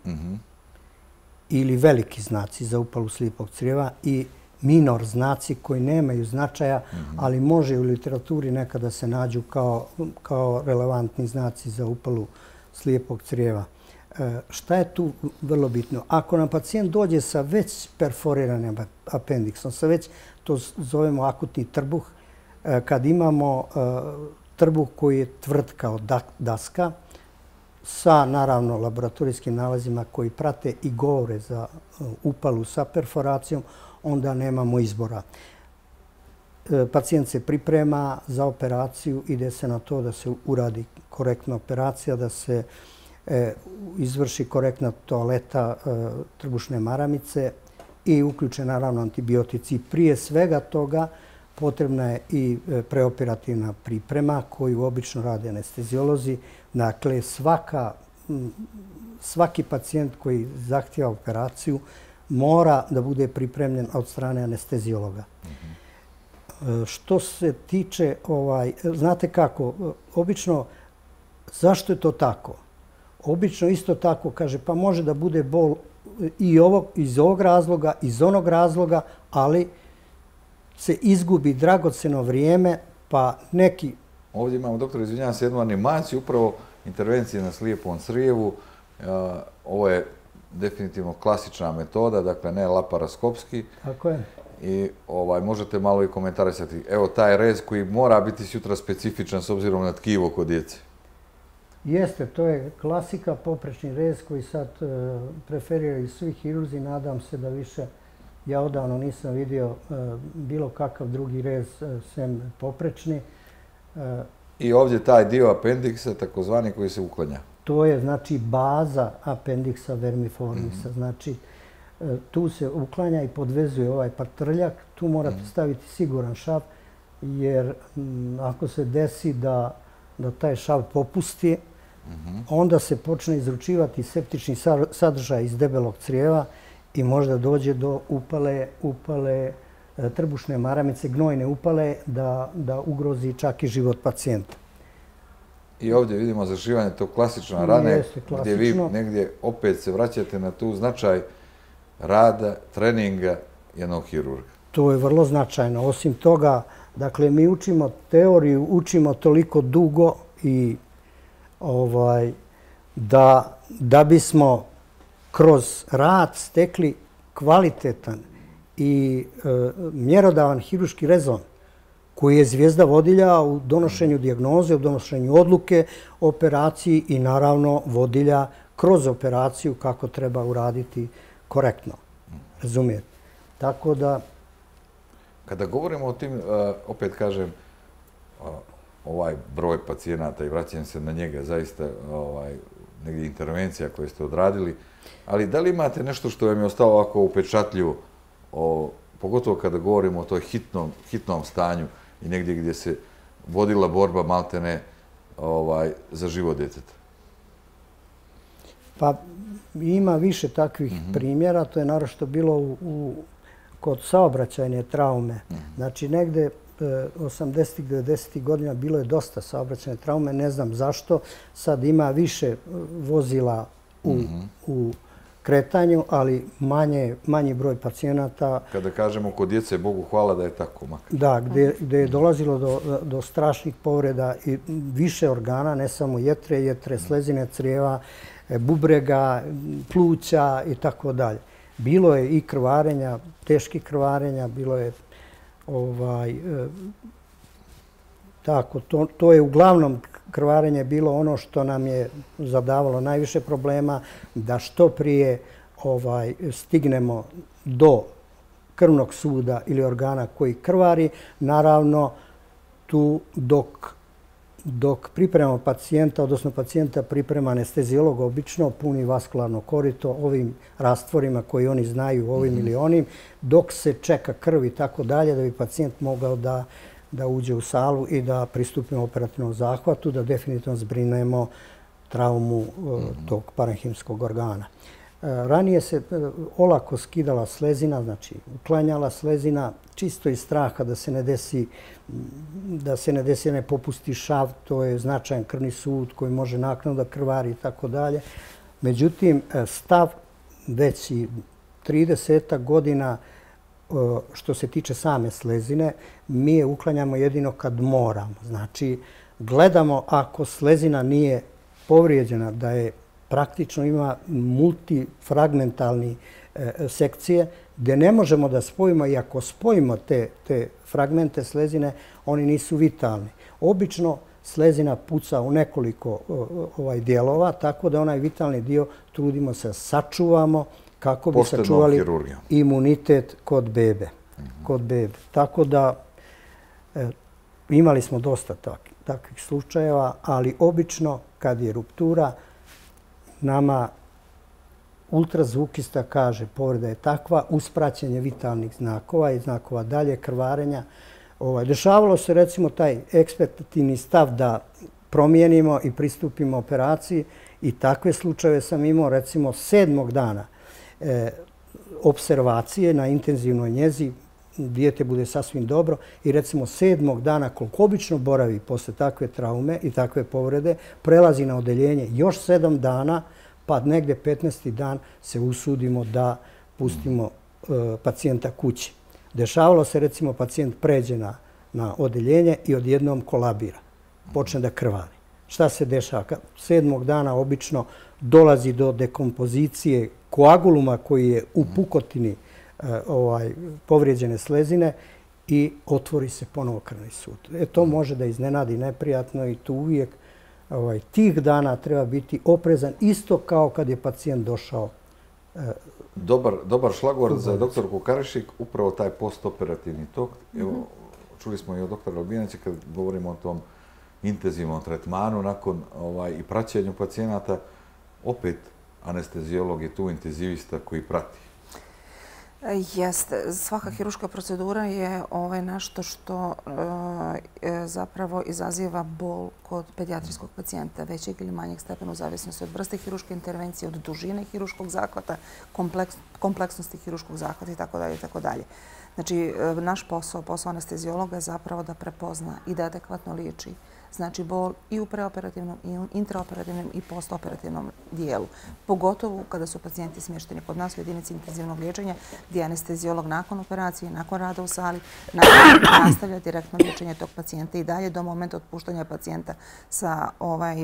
ili veliki znaci za upalu slijepog crijeva i minor znaci koji nemaju značaja, ali može u literaturi nekada se nađu kao relevantni znaci za upalu slijepog crijeva. Šta je tu vrlo bitno? Ako nam pacijent dođe sa već perforiranim apendiksom, sa već to zovemo akutni trbuh, kad imamo trbuh koji je tvrd kao daska, sa naravno laboratorijskim nalazima koji prate i govore za upalu sa perforacijom, onda nemamo izbora. Pacijent se priprema za operaciju, ide se na to da se uradi korektna operacija, da se izvrši korektna toaleta trbušne maramice i uključe naravno antibiotici. Prije svega toga potrebna je i preoperativna priprema koju obično rade anesteziolozi. Dakle, svaki pacijent koji zahtijeva operaciju mora da bude pripremljen od strane anesteziologa. Što se tiče, znate kako, obično, zašto je to tako? Obično isto tako kaže, pa može da bude bol i iz ovog razloga, iz onog razloga, ali se izgubi dragoceno vrijeme, pa neki... Ovdje imamo, doktor, izvinjavam se, jednu animaciju, upravo intervencije na slijepom crijevu. Ovo je definitivno klasična metoda, dakle ne laparoskopski. Tako je. I možete malo i komentarisati. Evo taj rez koji mora biti sutra specifičan s obzirom na tkivo kod djece. Jeste, to je klasika, poprečni rez koji sad preferiraju svi hirurzi. Nadam se da više, ja odavno nisam vidio bilo kakav drugi rez sem poprečni. I ovdje taj dio apendiksa, takozvani, koji se uklanja. To je znači baza apendiksa vermiformisa. Znači, tu se uklanja i podvezuje ovaj patrljak. Tu morate staviti siguran šav, jer ako se desi da da taj šav popusti, onda se počne izručivati septični sadržaj iz debelog crijeva i možda dođe do upale trbušne maramice, gnojne upale, da ugrozi čak i život pacijenta. I ovdje vidimo zašivanje tog klasična rane, gdje vi negdje opet se vraćate na tu značaj rada, treninga jednog hirurga. To je vrlo značajno. Osim toga, dakle, mi učimo teoriju, učimo toliko dugo i da bismo kroz rad stekli kvalitetan i mjerodavan hirurški rezon koji je zvijezda vodilja u donošenju dijagnoze, u donošenju odluke, operaciji i naravno vodilja kroz operaciju kako treba uraditi korektno. Razumijete? Tako da... Kada govorimo o tim, opet kažem, ovaj broj pacijenata i vraćam se na njega, zaista negdje intervencija koje ste odradili, ali da li imate nešto što vam je ostalo ovako upečatljivo, pogotovo kada govorimo o toj hitnom stanju i negdje gdje se vodila borba maltene za život djeteta? Pa ima više takvih primjera, to je naročito bilo kod saobraćajne traume. Znači, negde osamdesetih, devedesetih godina bilo je dosta saobraćajne traume, ne znam zašto. Sad ima više vozila u kretanju, ali manji broj pacijenata. Kada kažemo kod djece, Bogu hvala da je tako. Da, gdje je dolazilo do strašnih povreda i više organa, ne samo jetre, jetre, slezine crijeva, bubrega, pluća i tako dalje. Bilo je i krvarenja, teških krvarenja, bilo je tako. To je uglavnom krvarenje bilo ono što nam je zadavalo najviše problema, da što prije stignemo do krvnog suda ili organa koji krvari. Naravno, tu dok Dok pripremamo pacijenta, odnosno pacijenta priprema anesteziolog obično, puni vaskularno korito ovim rastvorima koji oni znaju, ovim ili onim, dok se čeka krv i tako dalje, da bi pacijent mogao da uđe u salu i da pristupimo operativnom zahvatu, da definitivno zbrinemo traumu tog parenhimskog organa. Ranije se olako skidala slezina, znači uklanjala slezina, čisto iz straha da se ne desi, da se ne desi, ne popusti šav, to je značajan krvni sud koji može naknadno da krvari i tako dalje. Međutim, stav već i trideset godina što se tiče same slezine, mi je uklanjamo jedino kad moramo. Znači, gledamo ako slezina nije povrijeđena, da je praktično ima multifragmentalni sekcije gdje ne možemo da spojimo i ako spojimo te, te fragmente slezine, oni nisu vitalni. Obično slezina puca u nekoliko ovaj, dijelova, tako da onaj vitalni dio trudimo se sačuvamo kako bi sačuvali imunitet kod bebe. Kod bebe. Tako da e, imali smo dosta takvih, takvih slučajeva, ali obično kad je ruptura, nama ultrazvukista kaže povreda je takva, uspraćenje vitalnih znakova i znakova dalje, krvarenja. Ovaj, dešavalo se recimo taj ekspektativni stav da promijenimo i pristupimo operaciji i takve slučajeve sam imao recimo sedmog dana e, observacije na intenzivnoj njezi, dijete bude sasvim dobro i recimo sedmog dana koliko obično boravi posle takve traume i takve povrede, prelazi na odeljenje još sedam dana, pa negde petnaesti dan se usudimo da pustimo e, pacijenta kući. Dešavalo se recimo pacijent pređe na, na odeljenje i odjednom kolabira, počne da krvari. Šta se dešava? Sedmog dana obično dolazi do dekompozicije koaguluma koji je u pukotini e, ovaj, povrijeđene slezine i otvori se ponovo krvni sud. E, to može da iznenadi neprijatno i tu uvijek ovaj, tih dana treba biti oprezan isto kao kad je pacijent došao. E, dobar, dobar šlagvor za doktorku Karišik, upravo taj postoperativni tok. Evo, čuli smo i od doktora Albijanića kad govorimo o tom intenzivnom tretmanu nakon ovaj, i praćenju pacijenata, opet anestezijolog je tu intenzivista koji prati. Jeste. Svaka hiruška procedura je ovaj nešto što e, zapravo izaziva bol kod pedijatrijskog pacijenta većeg ili manjeg stepena u zavisnosti od vrste hiruške intervencije, od dužine hiruškog zahvata, kompleks, kompleksnosti hiruškog zahvata itd. itd. Znači, naš posao, posao anestezijologa je zapravo da prepozna i da adekvatno liječi. Znači, bol i u preoperativnom, i intraoperativnom i postoperativnom dijelu. Pogotovo kada su pacijenti smješteni kod nas u jedinici intenzivnog liječenja, gdje anestezijolog nakon operacije, nakon rada u sali, nastavlja direktno liječenje tog pacijenta i dalje do momenta otpuštanja pacijenta sa ovaj,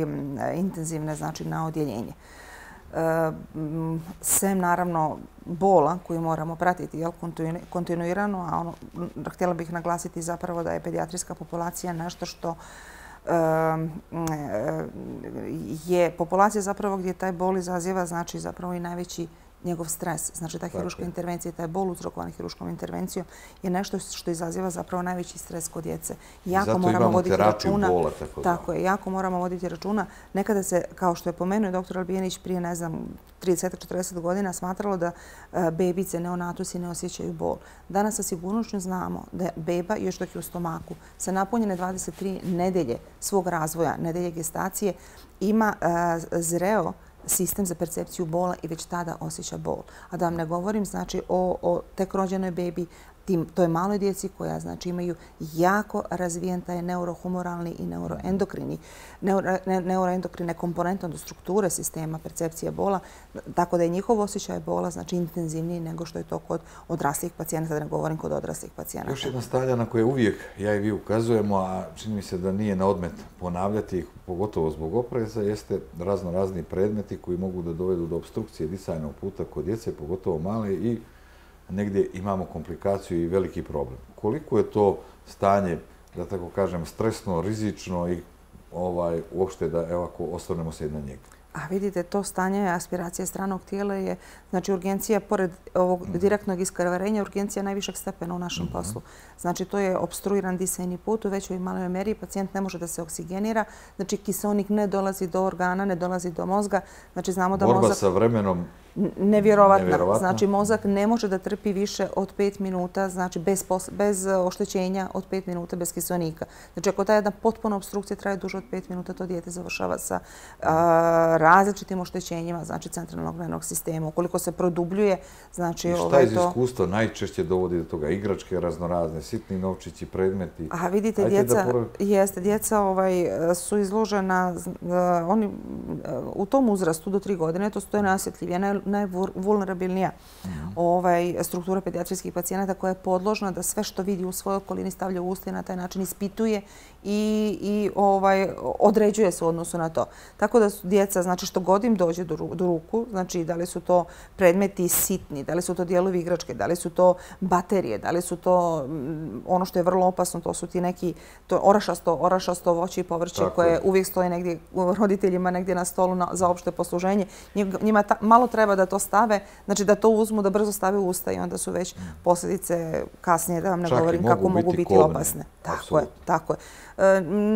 intenzivne, znači na odjeljenje. Sem naravno bola koju moramo pratiti jel, kontinuirano, a ono, htjela bih naglasiti zapravo da je pedijatrijska populacija nešto što je populacija zapravo gdje taj bol izaziva znači zapravo i najveći njegov stres. Znači ta hiruška intervencija, taj bol uzrokovan hiruškom intervencijom je nešto što izaziva zapravo najveći stres kod djece. Jako zato moramo imamo voditi terapiju računa, bola. Tako, tako je, jako moramo voditi računa. Nekada se, kao što je pomenuo doktor Albijanić prije, ne znam, trideset do četrdeset godina smatralo da bebice, neonatusi ne osjećaju bol. Danas sa sigurnošću znamo da beba, još dok je u stomaku, sa napunjene dvadeset tri nedelje svog razvoja, nedelje gestacije, ima zreo sistem za percepciju bola i već tada osjeća bol. A da vam ne govorim znači o, o tek rođenoj bebi, tim, to je maloj djeci koja znači imaju jako razvijen taj neurohumoralni i neuroendokrini, neuro, ne, neuroendokrine komponente od strukture sistema percepcije bola, tako da je njihov osjećaj bola znači intenzivniji nego što je to kod odraslih pacijenata, da ne govorim kod odraslih pacijenata. Još jedna stavlja na koje uvijek ja i vi ukazujemo, a čini mi se da nije na odmet ponavljati ih, pogotovo zbog opreza, jeste razno razni predmeti koji mogu da dovedu do obstrukcije disajnog puta kod djece, pogotovo male, i negdje imamo komplikaciju i veliki problem. Koliko je to stanje, da tako kažem, stresno, rizično i ovaj, uopšte da, evo, ako osvrnemo se na njega? A vidite, to stanje aspiracije stranog tijela je, znači, urgencija, pored ovog direktnog iskrvarenja, urgencija najvišeg stepena u našem poslu. Znači, to je opstruiran disajni put u većoj i maloj meri, pacijent ne može da se oksigenira, znači, kiseonik ne dolazi do organa, ne dolazi do mozga, znači, znamo da Borba mozak... sa vremenom nevjerovatna. Znači, mozak ne može da trpi više od pet minuta, znači bez oštećenja od pet minuta, bez kiselnika. Znači, ako ta jedna potpuna obstrukcija traje duže od pet minuta, to dijete završava sa različitim oštećenjima, znači centralnog nervnog sistema. Ukoliko se produbljuje, znači... I šta iz iskustva najčešće dovodi do toga? Igračke raznorazne, sitni novčići, predmeti? Aha, vidite, djeca, jeste, djeca su izložena, oni u tom uzrastu do tri godine, to su najosjetljivije, najvulnerabilnija struktura pedijatrijskih pacijenata koja je podložna da sve što vidi u svojoj okolini stavlja u usta i na taj način ispituje i određuje se u odnosu na to. Tako da su djeca, znači što god im dođe do ruku, znači da li su to predmeti sitni, da li su to dijelovi igračke, da li su to baterije, da li su to ono što je vrlo opasno, to su ti neki orašasto voće i povrće koje uvijek stoje negdje roditeljima, negdje na stolu za opšte posluženje. Njima malo treba da to stave, znači da to uzmu, da brzo stave u usta i onda su već posljedice kasnije, da vam ne govorim kako mogu biti opasne. Tako je, tako je.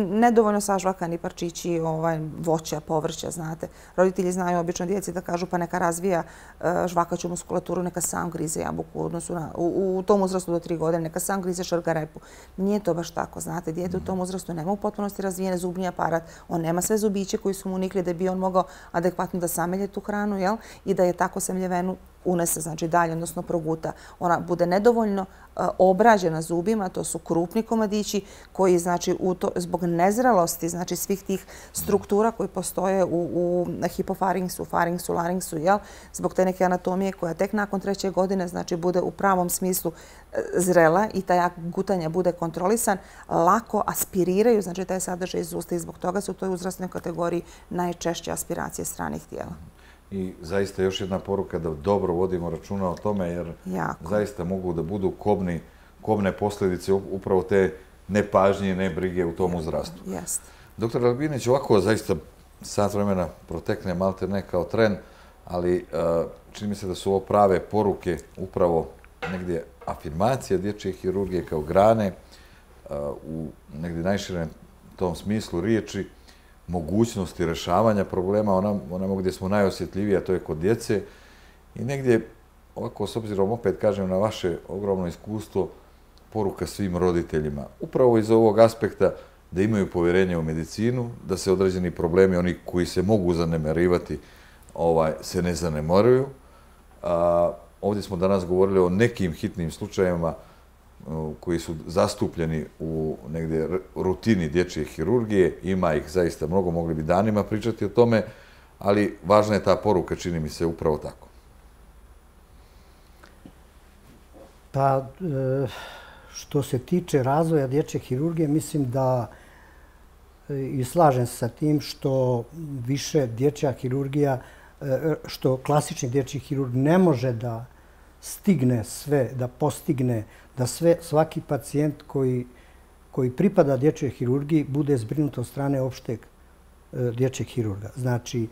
Nedovoljno sažvakani parčići voća, povrća, znate. Roditelji znaju obično djeci da kažu pa neka razvija žvakaću muskulaturu, neka sam grize jabuku u odnosu na, u tom uzrastu do tri godine, neka sam grize šargarepu. Nije to baš tako, znate. Dijete u tom uzrastu nema u potpunosti razvijene zubni aparat, on nema sve zubiće koji su mu unikli da bi on mogao adekvatno da samelje tu hranu, jel? I da je tako semljevenu unese, znači dalje, odnosno proguta. Ona bude nedovoljno obrađena zubima, to su krupni komadići koji, znači, zbog nezrelosti, znači, svih tih struktura koji postoje u hipofaringsu, faringsu, laringsu, jel? Zbog te neke anatomije koja tek nakon treće godine, znači, bude u pravom smislu zrela i taj gutanja bude kontrolisan, lako aspiriraju, znači, taj sadržaj iz usta i zbog toga su u toj uzrasnoj kategoriji najčešće aspiracije stranih tijela. I zaista još jedna poruka da dobro vodimo računa o tome, jer zaista mogu da budu kobne posljedice upravo te nepažnje i nebrige u tom uzrastu. Doktor Albinić, ovako zaista sat vremena protekne malte ne kao tren, ali čini mi se da su ovo prave poruke, upravo negdje afirmacija dječje hirurgije kao grane, u negdje najširem tom smislu riječi, mogućnosti rešavanja problema, onamo gdje smo najosjetljiviji, a to je kod djece. I negdje, ovako s obzirom opet kažem na vaše ogromno iskustvo, poruka svim roditeljima. Upravo iz ovog aspekta da imaju povjerenje u medicinu, da se određeni problemi, oni koji se mogu zanemarivati, se ne zanemaruju. Ovdje smo danas govorili o nekim hitnim slučajevima koji su zastupljeni u negdje rutini dječje hirurgije. Ima ih zaista mnogo, mogli bi danima pričati o tome, ali važna je ta poruka, čini mi se, upravo tako. Pa, što se tiče razvoja dječje hirurgije, mislim da i slažem se sa tim što više dječja hirurgija, što klasični dječji hirurg ne može da stigne sve, da postigne da sve, svaki pacijent koji, koji pripada dječjoj hirurgiji bude zbrinut od strane opšteg dječjeg hirurga. Znači,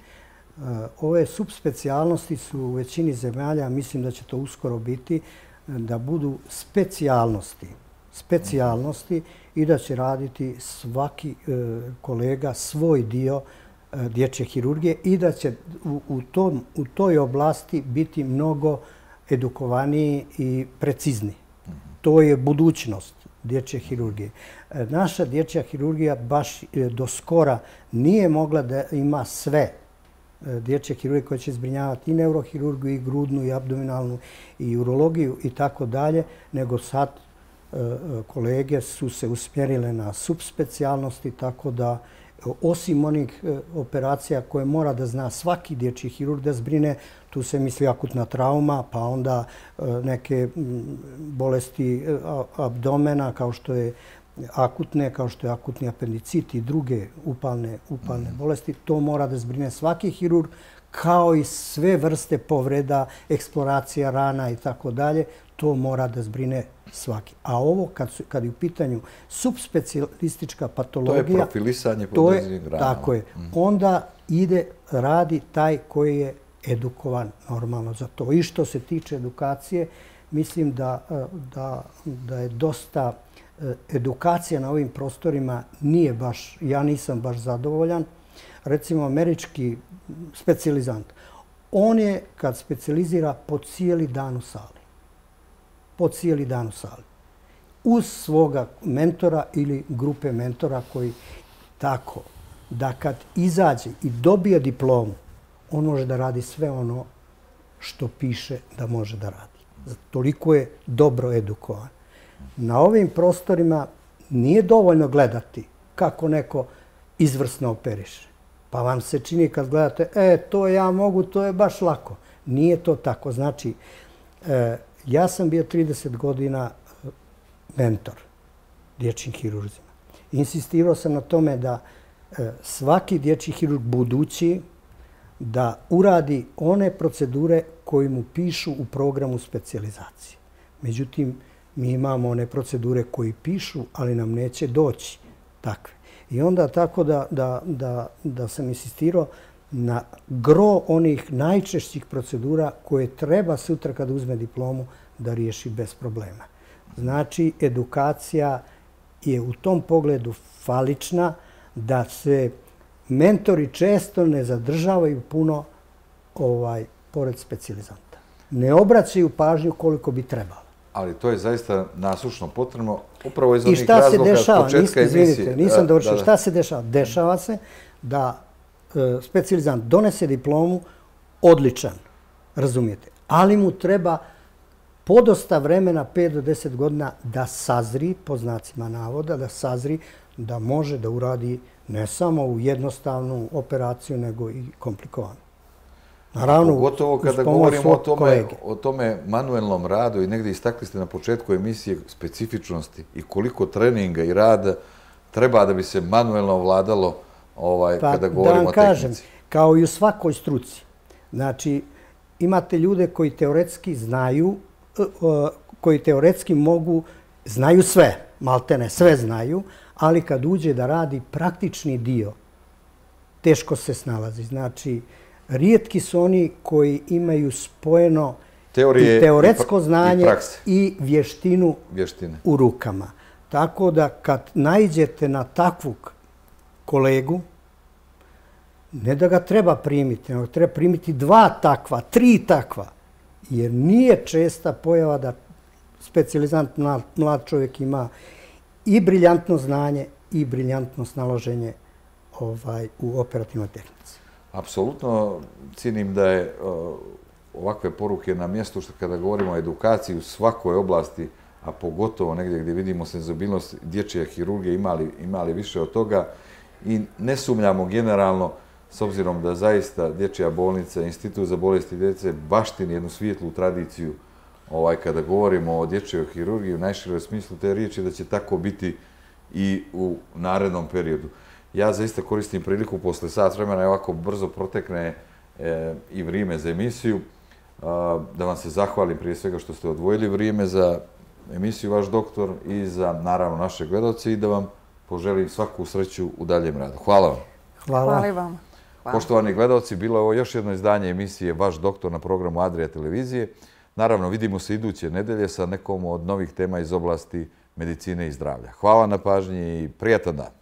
ove subspecijalnosti su u većini zemalja, mislim da će to uskoro biti, da budu specijalnosti, specijalnosti i da će raditi svaki kolega svoj dio dječje hirurgije i da će u, u, tom, u toj oblasti biti mnogo edukovaniji i precizni. To je budućnost dječje hirurgije. Naša dječja hirurgija baš do skora nije mogla da ima sve dječje hirurgije koje će zbrinjavati i neurohirurgiju, i grudnu, i abdominalnu, i urologiju i tako dalje, nego sad kolege su se usmjerile na subspecijalnosti, tako da osim onih operacija koje mora da zna svaki dječji hirurg da zbrine, tu se misli akutna trauma, pa onda neke bolesti abdomena kao što je akutne, kao što je akutni apendicit i druge upalne, upalne bolesti. To mora da zbrine svaki hirurg, kao i sve vrste povreda, eksploracija rana i tako dalje. To mora da zbrine svaki. A ovo, kad, su, kad je u pitanju subspecijalistička patologija... To je profilisanje po određenim granama. Tako je. Mm. Onda ide, radi taj koji je edukovan normalno za to. I što se tiče edukacije, mislim da, da, da je dosta edukacija na ovim prostorima nije baš, ja nisam baš zadovoljan. Recimo, američki specijalizant, on je, kad specijalizira, po cijeli dan u sali. Po cijeli dan u sali. Uz svoga mentora ili grupe mentora koji tako da kad izađe i dobije diplomu, on može da radi sve ono što piše da može da radi. Toliko je dobro edukovan. Na ovim prostorima nije dovoljno gledati kako neko izvrsno operiše. Pa vam se čini kad gledate, e, to ja mogu, to je baš lako. Nije to tako. Znači, e, ja sam bio trideset godina mentor dječjim hirurzima. Insistirao sam na tome da e, svaki dječji hirurg budući da uradi one procedure koje mu pišu u programu specijalizacije. Međutim, mi imamo one procedure koje pišu, ali nam neće doći takve. I onda tako da, da, da, da sam insistirao na gro onih najčešćih procedura koje treba sutra kada uzme diplomu da riješi bez problema. Znači, edukacija je u tom pogledu falična, da se mentori često ne zadržavaju puno ovaj, pored specijalizanta. Ne obraćaju pažnju koliko bi trebalo. Ali to je zaista nasušno potrebno, upravo iz onih razloga početka emisije. Izvinite, nisam dovršio. Šta se dešava? Dešava se da e, specijalizant donese diplomu odličan, razumijete, ali mu treba podosta vremena, pet do deset godina, da sazri, po znacima navoda, da sazri, da može da uradi ne samo u jednostavnu operaciju, nego i komplikovanu. Naravno, pogotovo kada govorimo o tome, o tome manuelnom radu i negdje istakli ste na početku emisije specifičnosti i koliko treninga i rada treba da bi se manuelno vladalo ovaj, pa, kada govorimo da o tehnici. Kažem, kao i u svakoj struci. Znači, imate ljude koji teoretski znaju, koji teoretski mogu, znaju sve, maltene sve znaju, ali kad uđe da radi praktični dio, teško se snalazi. Znači, rijetki su oni koji imaju spojeno teorije, i teoretsko znanje i, i vještinu Vještine. u rukama. Tako da kad naiđete na takvog kolegu, ne da ga treba primiti, nego treba primiti dva takva, tri takva, jer nije česta pojava da specijalizant mlad, mlad čovjek ima i briljantno znanje i briljantno snalaženje ovaj, u operativnoj tehnici. Apsolutno cijenim da je uh, ovakve poruke na mjestu što kada govorimo o edukaciji u svakoj oblasti, a pogotovo negdje gdje vidimo senzibilnost dječje hirurgije, imali, imali više od toga i ne sumnjamo generalno, s obzirom da zaista dječja bolnica, Institut za bolesti djece baštini jednu svijetlu tradiciju ovaj, kada govorimo o dječjoj hirurgiji u najširoj smislu te riječi, da će tako biti i u narednom periodu. Ja zaista koristim priliku posle sat vremena i ovako brzo protekne e, i vrijeme za emisiju, a, da vam se zahvalim prije svega što ste odvojili vrijeme za emisiju Vaš doktor i za, naravno, naše gledalce i da vam poželim svaku sreću u daljem radu. Hvala vam. Hvala. Hvala i vam. Hvala. Poštovani gledalci, bilo je ovo još jedno izdanje emisije Vaš doktor na programu Adria televizije. Naravno, vidimo se iduće nedelje sa nekom od novih tema iz oblasti medicine i zdravlja. Hvala na pažnji i prijatan dan.